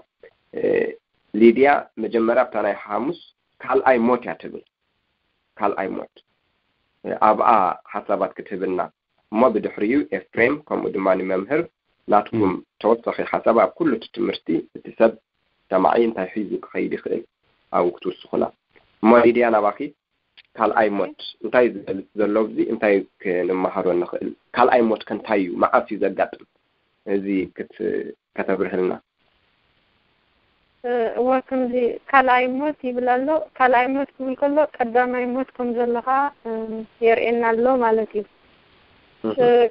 ሊድያ መጀመርያ ኣብታ ናይ ሓሙስ ካልኣይ ሞት እያ ትብል። ካልኣይ ሞት ኣብኣ ሓሳባት ክትህብና እሞ ብድሕሪኡ ኤፍሬም ከምኡ ድማ ንመምህር ናትኩም ተወሳኺ ሓሳብ ኣብ ኩሉ እቲ ትምህርቲ እቲ ሰብ ሰማዒ እንታይ ሒዙ ክኸይድ ይኽእል ኣብኡ ክትውስኹና። እሞ ሊድያ ናባኺ ካልኣይ ሞት እንታይ ዝገልጽ ዘሎ ኣብዚ እንታይ ክንመሃሮ ንኽእል? ካልኣይ ሞት ከ እንታይ እዩ? መዓስ እዩ ዘጋጥም? እዚ ክት- ከተብርህልና። እወ ከምዚ ካልኣይ ሞት ይብል ኣሎ። ካልኣይ ሞት ክብል ከሎ ቀዳማይ ሞት ከም ዘለኻ የርእየና ኣሎ ማለት እዩ።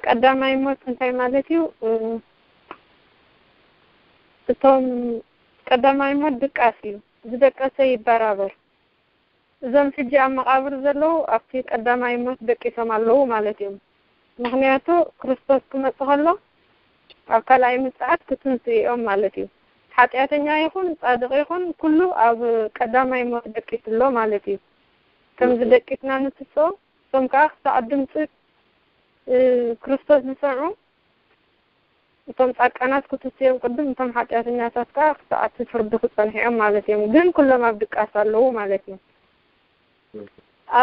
ቀዳማይ ሞት እንታይ ማለት እዩ? እቶም ቀዳማይ ሞት ድቃስ እዩ። ዝደቀሰ ይበራበር። እዞም ሕጂ ኣብ መቓብር ዘለዉ ኣብቲ ቀዳማይ ሞት ደቂሶም ኣለዉ ማለት እዮም። ምኽንያቱ ክርስቶስ ክመጽእ ከሎ ኣብ ካልኣይ ምጽኣት ክትንስኡ እዮም ማለት እዩ። ሓጢኣተኛ ይኹን ጻድቕ ይኹን ኩሉ ኣብ ቀዳማይ ሞት ደቂሱ ኣሎ ማለት እዩ። ከምዚ ደቂስና ንትስኦ እቶም ከኣ ክሳዕ ድምፂ ክርስቶስ ዝሰምዑ እቶም ጻድቃናት ክትስዮም ቅድም እቶም ሓጢኣተኛታት ከኣ ክሳዕ እቲ ፍርዲ ክጸንሑ እዮም ማለት እዮም። ግን ኩሎም ኣብ ድቃስ ኣለዉ ማለት እዩ።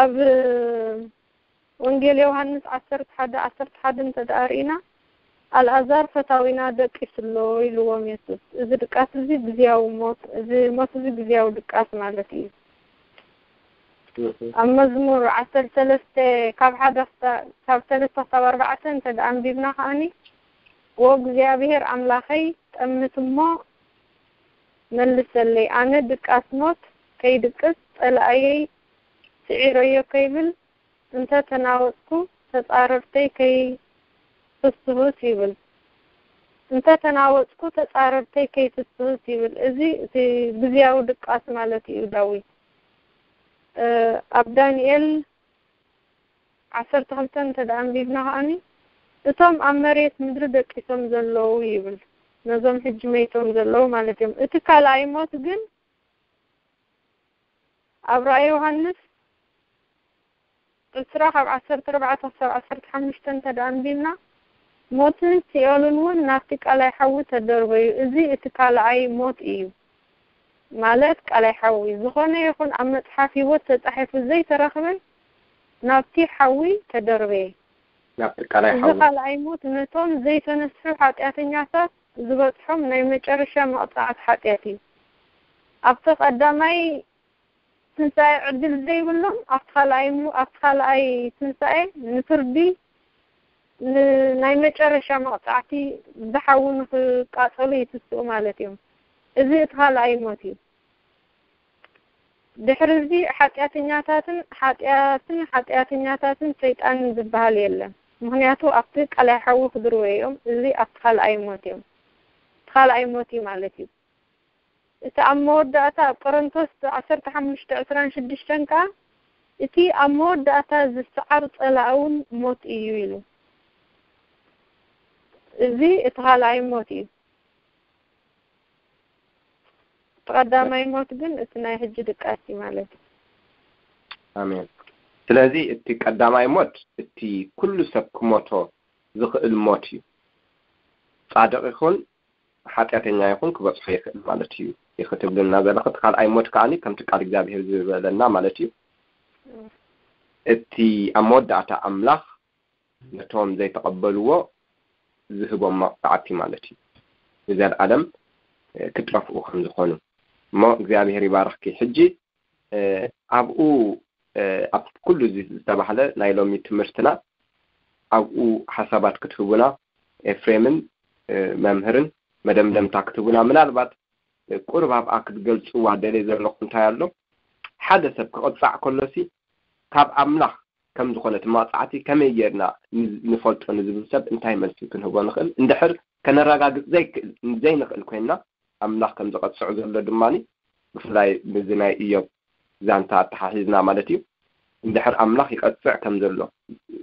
ኣብ ወንጌል ዮሃንስ ዓሰርተ ሓደ ዓሰርተ ሓደ እንተ ደኣ ርኢና ኣልኣዛር ፈታዊና ደቂሱ ኣሎ ኢልዎም የሱስ። እዚ ድቃስ እዚ ግዝያዊ ሞት፣ እዚ ሞት እዚ ግዝያዊ ድቃስ ማለት እዩ። ኣብ መዝሙር ዓሰርተ ሰለስተ ካብ ሓደ ክሳ- ካብ ሰለስተ ክሳብ ኣርባዕተ እንተ ደኣ ኣንቢብና ከኣኒ፣ "ወእግዚኣብሔር ኣምላኸይ፣ ጠምት እሞ መልሰለይ፣ ኣነ ድቃስ ሞት ከይድቅስ፣ ጸላእየይ ስዒረዮ ከይብል፣ እንተ ተናወጽኩ ተጻረርተይ ከይፍስሁስ" ይብል። "እንተ ተናወጽኩ ተጻረርተይ ከይፍስሁስ" ይብል። እዚ እቲ ግዝያዊ ድቃስ ማለት እዩ ዳዊት። እ፣ ኣብ ዳንኤል ዓሰርተ ክልተ እንተ ደኣ ኣንቢብና ከኣኒ፣ "እቶም ኣብ መሬት ምድሪ ደቂሶም ዘለዉ" ይብል። ነዞም ሕጂ መይቶም ዘለዉ ማለት እዮም። እቲ ካልኣይ ሞት ግን ኣብ ራእይ ዮሃንስ ዕስራ ካብ ዓሰርተ ኣርባዕተ ክሳብ ዓሰርተ ሓሙሽተ እንተ ደኣ ኣንቢብና፣ "ሞትን ሲኦልን እውን ናብቲ ቀላይ ሓዊ ተደርበዩ። እዚ እቲ ካልኣይ ሞት እዩ" ማለት ቀላይ ሓዊ። "ዝኾነ ይኹን ኣብ መጽሓፍ ህይወት ተጻሒፉ ዘይተረኽበ ናብቲ ሓዊ ተደርበየ።" ናብቲ ቀላይ እዚ ሓዊ። ካልኣይ ሞት ነቶም ዘይተነስሑ ሓጢኣተኛታት ዝበጽሖም ናይ መጨረሻ መቕጻዕቲ ሓጢኣት እዩ። ኣብቲ ቀዳማይ ትንሳኤ ዕድል ዘይብሎም ኣብቲ ካልኣይ ሞ- ኣብቲ ካልኣይ ትንሳኤ ንፍርዲ ን- ናይ መጨረሻ መቕጻዕቲ ብሓዊ ንኽቃጸሉ ይትስኡ ማለት እዮም። እዚ እቲ ካልኣይ ሞት እዩ። ድሕሪ እዚ ሓጢኣተኛታትን ሓጢኣትን ሓጢኣተኛታትን ሰይጣንን ዝበሃል የለን። ምኽንያቱ ኣብቲ ቀላይ ሓዊ ክድርበዩ እዮም። እዚ ኣብቲ ካልኣይ ሞት እዮም። እቲ ካልኣይ ሞት እዩ ማለት እዩ። እቲ ኣብ መወዳእታ ኣብ ቆሮንቶስ ዓሰርተ ሓሙሽተ ዕስራን ሽዱሽተን ከኣ፣ "እቲ ኣብ መወዳእታ ዝሰዓር ጸላእ እውን ሞት እዩ" ኢሉ። እዚ እቲ ካልኣይ ሞት እዩ። እቲ ቀዳማይ ሞት ግን እቲ ናይ ሕጂ ድቃስ እዩ ማለት እዩ። ኣሜን። ስለዚ እቲ ቀዳማይ ሞት እቲ ኩሉ ሰብ ክሞቶ ዝኽእል ሞት እዩ። ጻድቕ ይኹን ሓጢኣተኛ ይኹን ክበጽሖ ይኽእል ማለት እዩ። ኢኺ ትብልና ዘለኺ እቲ ካልኣይ ሞት ከኣኒ ከምቲ ቃል እግዚኣብሔር ዝበለና ማለት እዩ። እቲ ኣብ መወዳእታ ኣምላኽ ነቶም ዘይተቐበልዎ ዝህቦም መቕጻዕቲ ማለት እዩ። ንዘለኣለም፣ እ፣ ክጠፍኡ ከም ዝኾኑ። እሞ እግዚኣብሔር ይባርኽኪ። ሕጂ፣ እ፣ ኣብኡ፣ እ፣ ኣብ ኩሉ እዚ ዝተባህለ ናይ ሎሚ ትምህርትና ኣብኡ ሓሳባት ክትህቡና ኤፍሬምን፣ እ፣ መምህርን መደምደምታ ክትህቡና፣ ምናልባት፣ እ፣ ቁሩብ ኣብኣ ክትገልጽዋ ደልየ ዘለኹ እንታይ ኣሎ? ሓደ ሰብ ክቕጻዕ ከሎሲ ካብ ኣምላኽ ከም ዝኾነ እቲ መቕጻዕቲ ከመይ ጌርና ን-፣ ንፈልጦ ንዝብል ሰብ እንታይ መልሲ ክንህቦ ንኽእል? እንድሕር ከነረጋግጽ ዘይክእል፣ ዘይንኽእል ኮይንና ኣምላኽ ከም ዝቐጽዖ ዘሎ ድማኒ ብፍላይ ምስዚ ናይ ኢዮብ ዛንታ ኣተሓሒዝና ማለት እዩ። እንድሕር ኣምላኽ ይቐጽዕ ከም ዘሎ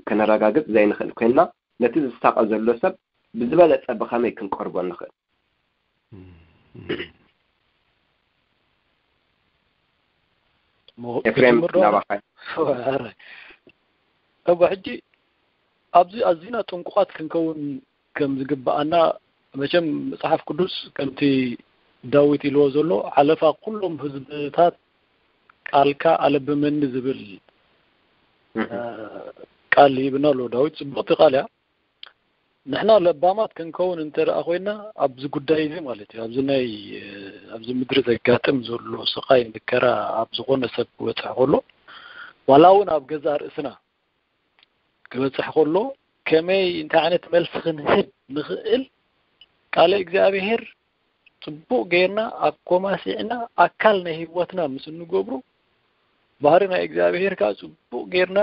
ከነረጋግጽ ዘይንኽእል ኮይንና ነቲ ዝሳቐ ዘሎ ሰብ ብዝበለጸ ብኸመይ ክንቀርቦ ንኽእል? እሞ ኤፍሬም ክጅምር ዶ? ናባኻ። ኧረ። እወ፣ ሕጂ ኣብዚ ኣዚና ጥንቁቓት ክንከውን ከም ዝግብኣና፣ መቸም መጽሓፍ ቅዱስ ከምቲ ዳዊት ኢልዎ ዘሎ፣ "ሓለፋ ኩሎም ህዝብታት ቃልካ ኣለብመኒ" ዝብል፣ እህ። እ፣ ቃል ሂብና ኣሎ ዳዊት። ጽቡቕቲ ቃል እያ። ንሕና ለባማት ክንከውን እንተ ደኣ ኮይና ኣብዚ ጉዳይ እዚ ማለት እዩ፣ ኣብዚ ናይ፣ ኣብዚ ምድሪ ዘጋጥም ዘሎ ስቓይ መከራ ኣብ ዝኾነ ሰብ ክበጽሕ ከሎ፣ ዋላ እውን ኣብ ገዛእ ርእስና ክበጽሕ ከሎ፣ ከመይ እንታይ ዓይነት መልሲ ክንህብ ንኽእል ቃለ እግዚኣብሔር ጽቡቕ ጌርና ኣኮማሲዕና ኣካል ናይ ህይወትና ምስ እንገብሮ፣ ባህሪ ናይ እግዚኣብሔር ከኣ ጽቡቕ ጌርና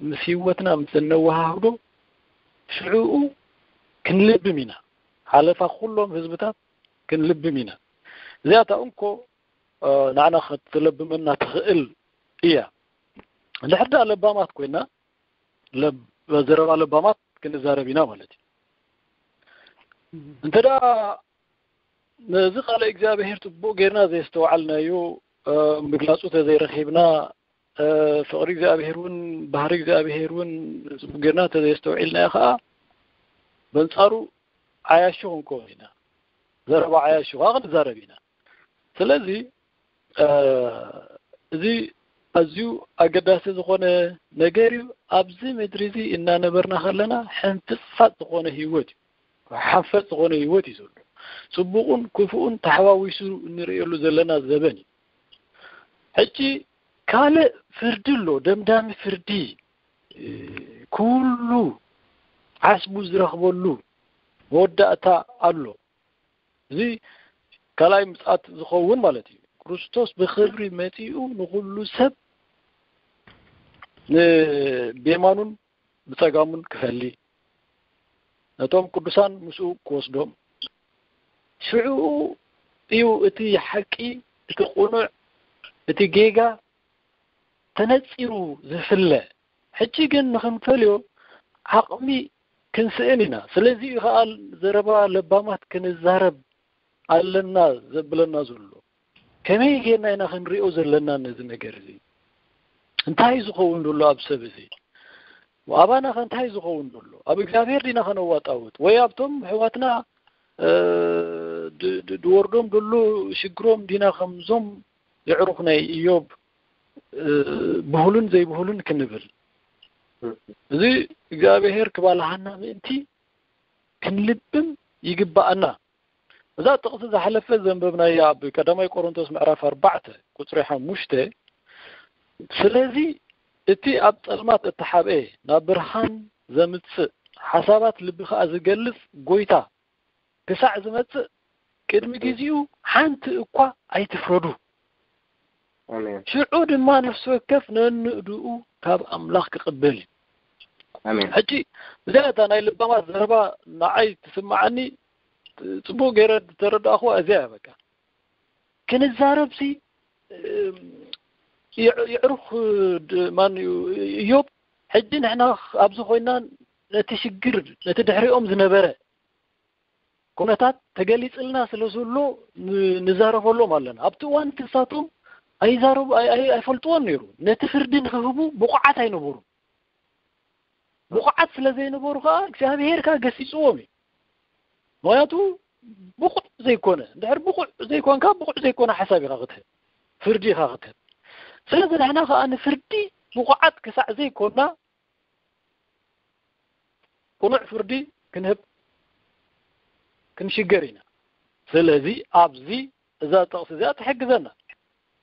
ምስ ህይወትና ምስ እነወሃህዶ፣ ሽዑኡ ክንልብም ኢና። ሓለፋ ኩሎም ህዝብታት ክንልብም ኢና። እዚኣታ እንኮ፣ እ፣ ንዓና ከተለብመና ትኽእል እያ። እንድሕር ደኣ ለባማት ኮይና፣ ለብ-፣ ዘረባ ለባማት ክንዛረብ ኢና ማለት እዩ። እንተ ደኣ ነዚ ቃለ እግዚኣብሔር ጽቡቕ ጌርና ዘየስተውዓልናዮ፣ እ፣ ምግላጹ ተዘይረኺብና፣ እ፣ ፍቕሪ እግዚኣብሔር እውን፣ ባህሪ እግዚኣብሔር እውን ጽቡቕ ጌርና ተዘየስተውዒልናዮ ኸኣ፣ በንጻሩ ዓያሹ ክንከውን ኢና። ዘረባ ዓያሹ ኸኣ ክንዛረብ ኢና። ስለዚ፣ እ፣ እዚ ኣዝዩ ኣገዳሲ ዝኾነ ነገር እዩ። ኣብዚ ምድሪ እዚ እናነበርና ከለና ሕንፍጽፋጽ ዝኾነ ህይወት እዩ። ሓንፈጽ ዝኾነ ህይወት እዩ ዘሎ። ጽቡቕን ክፉእን ተሓዋዊሱ እንርእየሉ ዘለና ዘበን እዩ። ሕጂ ካልእ ፍርዲ ኣሎ፣ ደምዳሚ ፍርዲ። እ፣ ኩሉ ዓስቡ ዝረኽበሉ መወዳእታ ኣሎ። እዚ ካልኣይ ምጽኣት ዝኸውን ማለት እዩ። ክርስቶስ ብኽብሪ መጺኡ ንኹሉ ሰብ ን-፣ ብየማኑን ብጸጋሙን ክፈሊ፣ ነቶም ቅዱሳን ምስኡ ክወስዶም። ሽዑ እዩ እቲ ሓቂ፣ እቲ ቅኑዕ፣ እቲ ጌጋ ተነጺሩ ዝፍለ። ሕጂ ግን ንኽንፈልዮ ዓቕሚ ክንስእን ኢና። ስለዚ እዩ ኸኣ ዘረባ ለባማት ክንዛረብ ኣለና ዘብለና ዘሎ። ከመይ ጌርና ኢና ክንሪኦ ዘለና ነዚ ነገር እዚ? እንታይ ዝኸውን ዘሎ ኣብ ሰብ እዚ? ኣባና ኸ እንታይ ዝኸውን ዘሎ? ኣብ እግዚኣብሔር ዲና ኸነዋጣውጥ? ወይ ኣብቶም ኣሕዋትና፣ እ፣ ድ-፣ ድ-፣ ድወርዶም ዘሎ ሽግሮም ዲና ከምዞም የዕሩኽ ናይ ኢዮብ፣ እ፣ ብህሉን ዘይብህሉን ክንብል? እዚ እግዚኣብሔር ክባልሃና ምእንቲ ክንልብም ይግባኣና። እዛ ጥቕሲ ዝሓለፈ ዘንበብናያ ኣብ ቀዳማይ ቆሮንቶስ ምዕራፍ ኣርባዕተ ቁጽሪ ሓሙሽተ፣ ስለዚ እቲ ኣብ ጸልማት እተሓብኤ ናብ ብርሃን ዘምጽእ፣ ሓሳባት ልቢ ኸኣ ዝገልጽ ጐይታ ክሳዕ ዝመጽእ፣ ቅድሚ ግዜኡ ሓንቲ እኳ ኣይትፍረዱ። ኣሜን። ሽዑ ድማ ነፍሲ ወከፍ ነንእድኡ ካብ ኣምላኽ ክቕበል እዩ። ኣሜን። ሕጂ እዚኣ እታ ናይ ለባማት ዘረባ ንዓይ ትስምዓኒ፣ ጽቡቕ ገይረ ዝተረዳእኹዋ እዚኣ እያ። በቃ ክንዛረብሲ፣ እም፣ የዕ-፣ የዕሩኽ ድ-፣ ማን እዩ? ኢዮብ። ሕጂ ንሕና ኣብዚ ኮይና ነቲ ሽግር፣ ነቲ ድሕሪኦም ዝነበረ ኩነታት ተገሊጽልና ስለ ዘሎ ን-፣ ንዛረበሎም ኣለና። ኣብቲ እዋን ክሳቶም ኣይዛረቡ፣ ኣይ-፣ ኣይ-፣ ኣይፈልጥዎን ነይሩ። ነቲ ፍርዲ ንኽህቡ ብቑዓት ኣይነበሩን። ብቑዓት ስለ ዘይነበሩ ከኣ እግዚኣብሄር ከኣ ገሲጽዎም እዩ። ምኽንያቱ ብቑዕ ዘይኮነ፣ እንድሕር ብቑዕ ዘይኮንካ፣ ብቑዕ ዘይኮነ ሓሳብ ኢኻ ክትህብ፣ ፍርዲ ኢኻ ክትህብ። ስለዚ ንሕና ከኣ ንፍርዲ ብቑዓት ክሳዕ ዘይኮና፣ ቅኑዕ ፍርዲ ክንህብ ክንሽገር ኢና። ስለዚ ኣብዚ እዛ ጥቕሲ እዚኣ ትሕግዘና።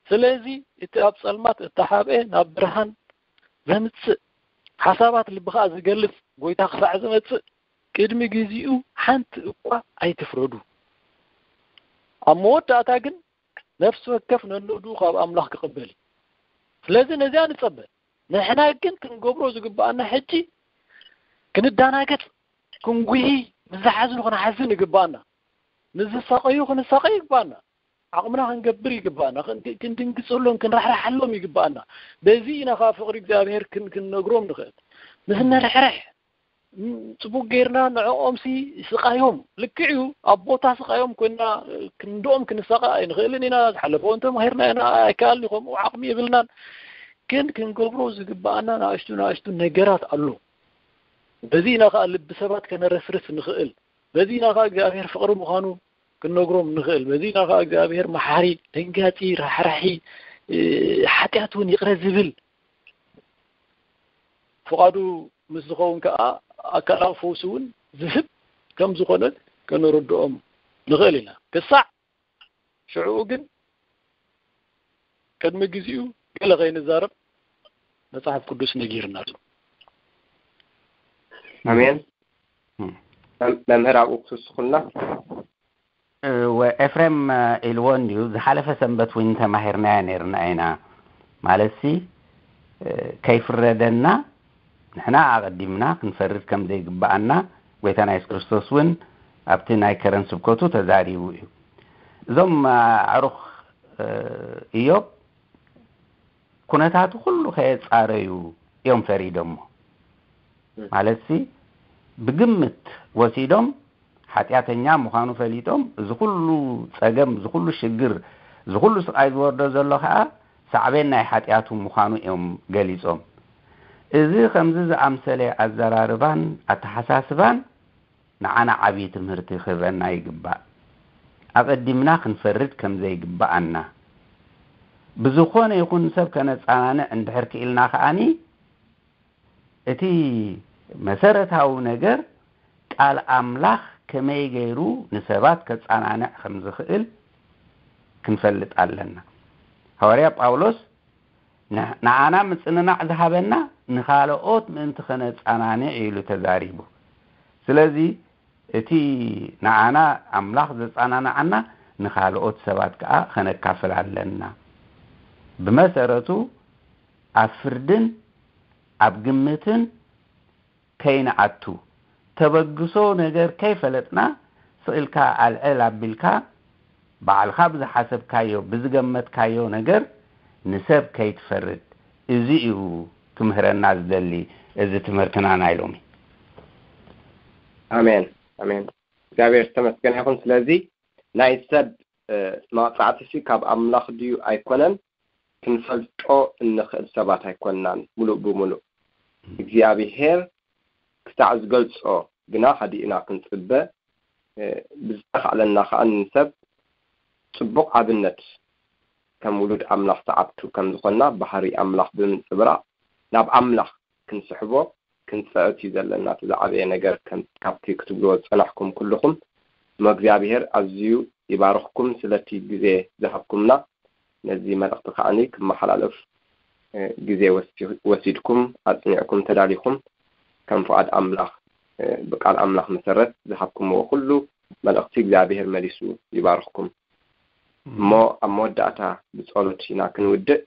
ስለዚ እቲ ኣብ ጸልማት እተሓብኤ ናብ ብርሃን ዘምጽእ፣ ሓሳባት ልቢ ኸኣ ዝገልጽ ጐይታ ክሳዕ ዝመጽእ፣ ቅድሚ ግዜኡ ሓንቲ እኳ ኣይትፍረዱ። ኣብ መወዳእታ ግን ነፍሲ ወከፍ ነንእድኡ ካብ ኣምላኽ ክቕበል እዩ። ስለዚ ነዚኣ ንጸበ። ንሕና ግን ክንገብሮ ዝግብኣና ሕጂ ክንዳናገጽ፣ ክንጉሂ፣ ምስ ዝሓዝኑ ክንሓዝን ይግብኣና። ምስ ዝሳቐዩ ክንሳቐ ይግብኣና። ዓቕምና ክንገብር ይግብኣና። ክን-፣ ክንድንግጸሎም፣ ክንራሕርሓሎም ይግብኣና። በዚ ኢና ከኣ ፍቕሪ እግዚኣብሔር ክን-፣ ክንነግሮም ንኽእል። ምስ ንርሕርሕ፣ ም-፣ ጽቡቕ ጌርና ንዕኦምሲ ስቓዮም፣ ልክዕ እዩ፣ ኣብ ቦታ ስቓዮም ኮይንና ክንድኦም ክንሳቐ ኣይንኽእልን ኢና። ዝሓለፈ እውን ተማሂርና ኢና፣ ኣይከኣልን እዩ፣ ከምኡ ዓቕሚ የብልናን። ግን ክንገብሮ ዝግብኣና ንኣሽቱ ንኣሽቱ ነገራት ኣሎ። በዚ ኢና ከኣ ልቢ ሰባት ከነረስርስ ንኽእል። በዚ ኢና ከኣ እግዚኣብሔር ፍቕሪ ምዃኑ ክንነግሮም ንኽእል። በዚ ኢና ከኣ እግዚኣብሔር መሓሪ፣ ደንጋጺ፣ ራሕራሒ፣ እ፣ ሓጢኣት እውን ይቕረ ዝብል፣ ፍቓዱ ምስ ዝኸውን ከኣ ኣካላዊ ፈውሲ እውን ዝህብ ከም ዝኾነ ከነረድኦም ንኽእል ኢና። ክሳዕ ሽዕኡ ግን ቅድሚ ግዜኡ ገለ ከይንዛረብ መጽሓፍ ቅዱስ ነጊርና ኣሎ። ኣሜን። እም። መም-፣ መምህር ኣብኡ ክትውስኹልና? እወ፣ ኤፍሬም፣ እ፣ ኢልዎ እንድዩ፣ ዝሓለፈ ሰንበት እውን ተማሂርናዮ ነይርና ኢና። ማለትሲ፣ እ፣ ከይፍረደና ንሕና ኣቐዲምና ክንፈርድ ከም ዘይግብኣና ጐይታና የሱስ ክርስቶስ እውን ኣብቲ ናይ ከረን ስብከቱ ተዛሪቡ እዩ። እዞም፣ እ፣ ኣዕሩኽ፣ እ፣ ኢዮብ ኩነታቱ ኩሉ ከየጻረዩ እዮም ፈሪዶሞ። እም። ማለትሲ ብግምት ወሲዶም ሓጢኣተኛ ምዃኑ ፈሊጦም፣ እዚ ኩሉ ጸገም፣ እዚ ኩሉ ሽግር፣ እዚ ኩሉ ስቓይ ዝወርዶ ዘሎ ኸኣ ሳዕቤን ናይ ሓጢኣቱ ምዃኑ እዮም ገሊጾም። እዚ ከምዚ ዝኣምሰለ ኣዘራርባን ኣተሓሳስባን ንዓና ዓብዪ ትምህርቲ ክህበና ይግባእ። ኣቐዲምና ክንፈርድ ከም ዘይግብኣና። ብዝኾነ ይኹን ሰብ ከነጸናንዕ እንድሕር ክኢልና ከኣኒ፣ እቲ መሰረታዊ ነገር ቃል ኣምላኽ ከመይ ገይሩ ንሰባት ከጸናንዕ ከም ዝኽእል ክንፈልጥ ኣለና። ሃዋርያ ጳውሎስ ንዓና ምጽንናዕ ዝሃበና ንኻልኦት ምእንቲ ኸነጻናንዕ ኢሉ ተዛሪቡ። ስለዚ እቲ ንዓና ኣምላኽ ዘጻናንዓና ንኻልኦት ሰባት ከኣ ኸነካፍል ኣለና። ብመሰረቱ ኣብ ፍርድን ኣብ ግምትን ከይንኣቱ፣ ተበግሶ ነገር ከይፈለጥና ስቕ ኢልካ ኣልዕል ኣቢልካ ባዕልኻ ብዝሓሰብካዮ ብዝገመትካዮ ነገር ንሰብ ከይትፈርድ። እዚ እዩ ክምህረና ዝደሊ እዚ ትምህርትና ናይ ሎሚ። ኣሜን ኣሜን። እግዚኣብሔር ዝተመስገነ ይኹን። ስለዚ ናይ ሰብ መቕጻዕቲ ሲ ካብ ኣምላኽ ድዩ ኣይኮነን ክንፈልጦ እንኽእል ሰባት ኣይኮንናን። ሙሉእ ብሙሉእ እግዚኣብሔር ክሳዕ ዝገልጾ ግና ሃዲእና ክንጽበ፣ ብዝተኻእለና ከኣ ንሰብ ጽቡቕ ኣብነት ከም ውሉድ ኣምላኽ ሰዓብቱ ከም ዝኾንና ባህሪ ኣምላኽ ብምንጽብራቕ ናብ ኣምላኽ ክንስሕቦ ክንጽዕት እዩ ዘለና። እቲ ዝዓበየ ነገር ከም ካብቲ ክትብልዎ ዝጸናሕኩም ኩልኹም እሞ እግዚኣብሔር ኣዝዩ ይባርኽኩም ስለቲ ግዜ ዝሃብኩምና። ነዚ መልእኽቲ ከዓኒ ክመሓላለፍ ግዜ ወሲድኩም ኣጽኒዕኩም ተዳሊኹም ከም ፍቓድ ኣምላኽ ብቃል ኣምላኽ መሰረት ዝሃብኩምዎ ኩሉ መልእኽቲ እግዚኣብሔር መሊሱ ይባርኽኩም። እሞ ኣብ መወዳእታ ብጸሎት ኢና ክንውድእ።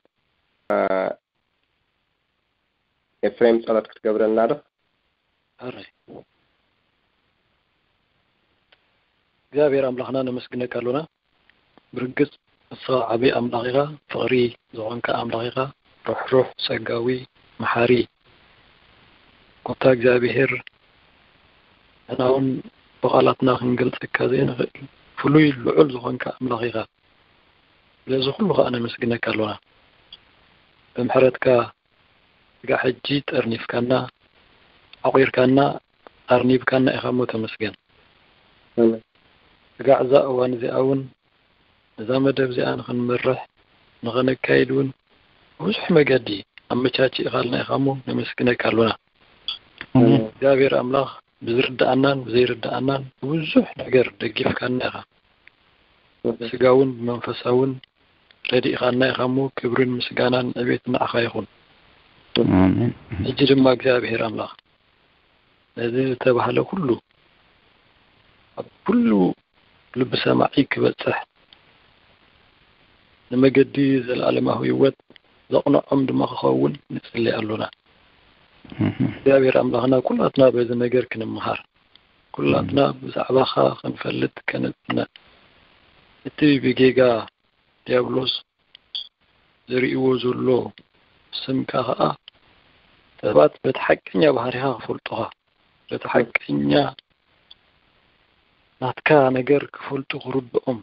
ኤፍሬም ጸሎት ክትገብረልና ዶ? ኣረ እግዚኣብሔር ኣምላኽና ነመስግነካ ኣሎና። ብርግጽ ንስኻ ዓቢ ኣምላኽ ኢኻ፣ ፍቕሪ ዝኾንካ ኣምላኽ ኢኻ፣ ሩሕሩሕ፣ ጸጋዊ፣ መሓሪ። ጎታ እግዚኣብሔር ንሕና እውን ብቓላትና ክንገልጸካ ዘይንኽእል ፍሉይ ልዑል ዝኾንካ ኣምላኽ ኢኻ። ስለዚ ኩሉ ከኣ ነመስግነካ ኣሎና። ብምሕረትካ ስጋዕ ሕጂ ጠርኒፍካና፣ ዓቑርካና፣ ኣርኒብካና ኢኻ እሞ ተመስገን። ስጋዕ እዛ እዋን እዚኣ እውን ነዛ መደብ እዚኣ ንኽንመርሕ ንኽነካይድ እውን ብዙሕ መገዲ ኣመቻችእኻልና ኢኻ እሞ ነመስግነካ ኣሎና። እግዚኣብሔር ኣምላኽ ብዝርድኣናን ብዘይርድኣናን ብብዙሕ ነገር ደጊፍካና ኢኻ። ብስጋውን ብመንፈሳውን ረዲእኻና ኢኻ እሞ ክብርን ምስጋናን ዕቤትን ንዓኻ ይኹን። ኣሜን። ሕጂ ድማ እግዚኣብሔር ኣምላኽ ነዚ ዝተባህለ ኩሉ ኣብ ኩሉ ልቢ ሰማዒ ክበጽሕ ንመገዲ ዘለኣለማዊ ህይወት ዘቕንዖም ድማ ክኸውን ንጽሊ ኣሎና። እግዚኣብሔር ኣምላኽና ኩላትና በዚ ነገር ክንምሃር ኩላትና ብዛዕባኻ ክንፈልጥ ከነጽነ እቲ ብጌጋ ዲያብሎስ ዘርእዎ ዘሎ ስምካ ኸኣ ሰባት በቲ ሓቀኛ ባህሪኻ ክፈልጡኻ በቲ ሓቀኛ ናትካ ነገር ክፈልጡ ክርድኦም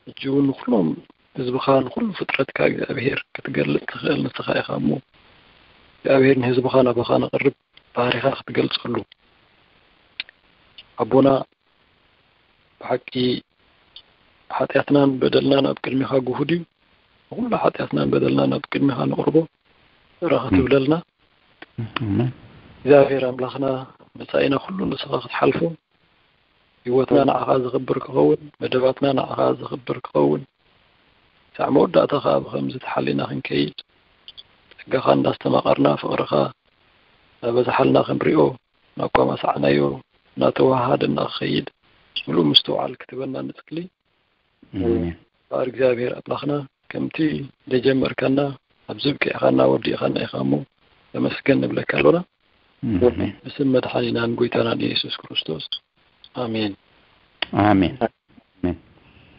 ሕጂ እውን ንኩሎም ህዝብኻ ንኩሉ ፍጥረትካ እግዚኣብሄር ክትገልጽ ትኽእል ንስኻ ኢኻ እሞ እግዚኣብሄር ንህዝብኻ ናባኻ ንቕርብ ባህሪኻ ክትገልጸሉ ኣቦና ብሓቂ ሓጢኣትናን በደልናን ኣብ ቅድሚኻ ግሁድ እዩ። ንኹሉ ሓጢኣትናን በደልናን ኣብ ቅድሚኻ ነቕርቦ። ርኽ ትብለልና እግዚኣብሔር ኣምላኽና መጻኢና ኩሉ ንስኻ ክትሓልፎ ህይወትና ንዓኻ ዘኽብር ክኸውን መደባትና ንዓኻ ዘኽብር ክኸውን ሳዕ መወዳእታ ኸዓ ብኸምዚ ተሓሊና ክንከይድ ጸጋኻ እንዳስተማቐርና ፍቕርኻ እናበዛሓልና ክንሪኦ እናቋማሳዕናዮ እናተወሃሃደና ክኸይድ ምሉእ ምስትውዓል ክትበና ንጽሊ። እምባኣር እግዚኣብሔር ኣምላኽና ከምቲ ደጀመርካና ኣብዚ ብቂዕኻና ወዲእኻና ኢኻ እሞ ተመስገን ንብለካ ኣሎና። ብስም መድሓኒናን ጎይታናን ኢየሱስ ክርስቶስ ኣሜን። ኣሜን።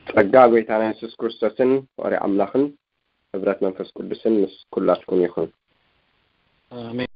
ጸጋ ጎይታና የሱስ ክርስቶስን ፍቕሪ ኣምላኽን ሕብረት መንፈስ ቅዱስን ምስ ኩላትኩም ይኹን። ኣሜን።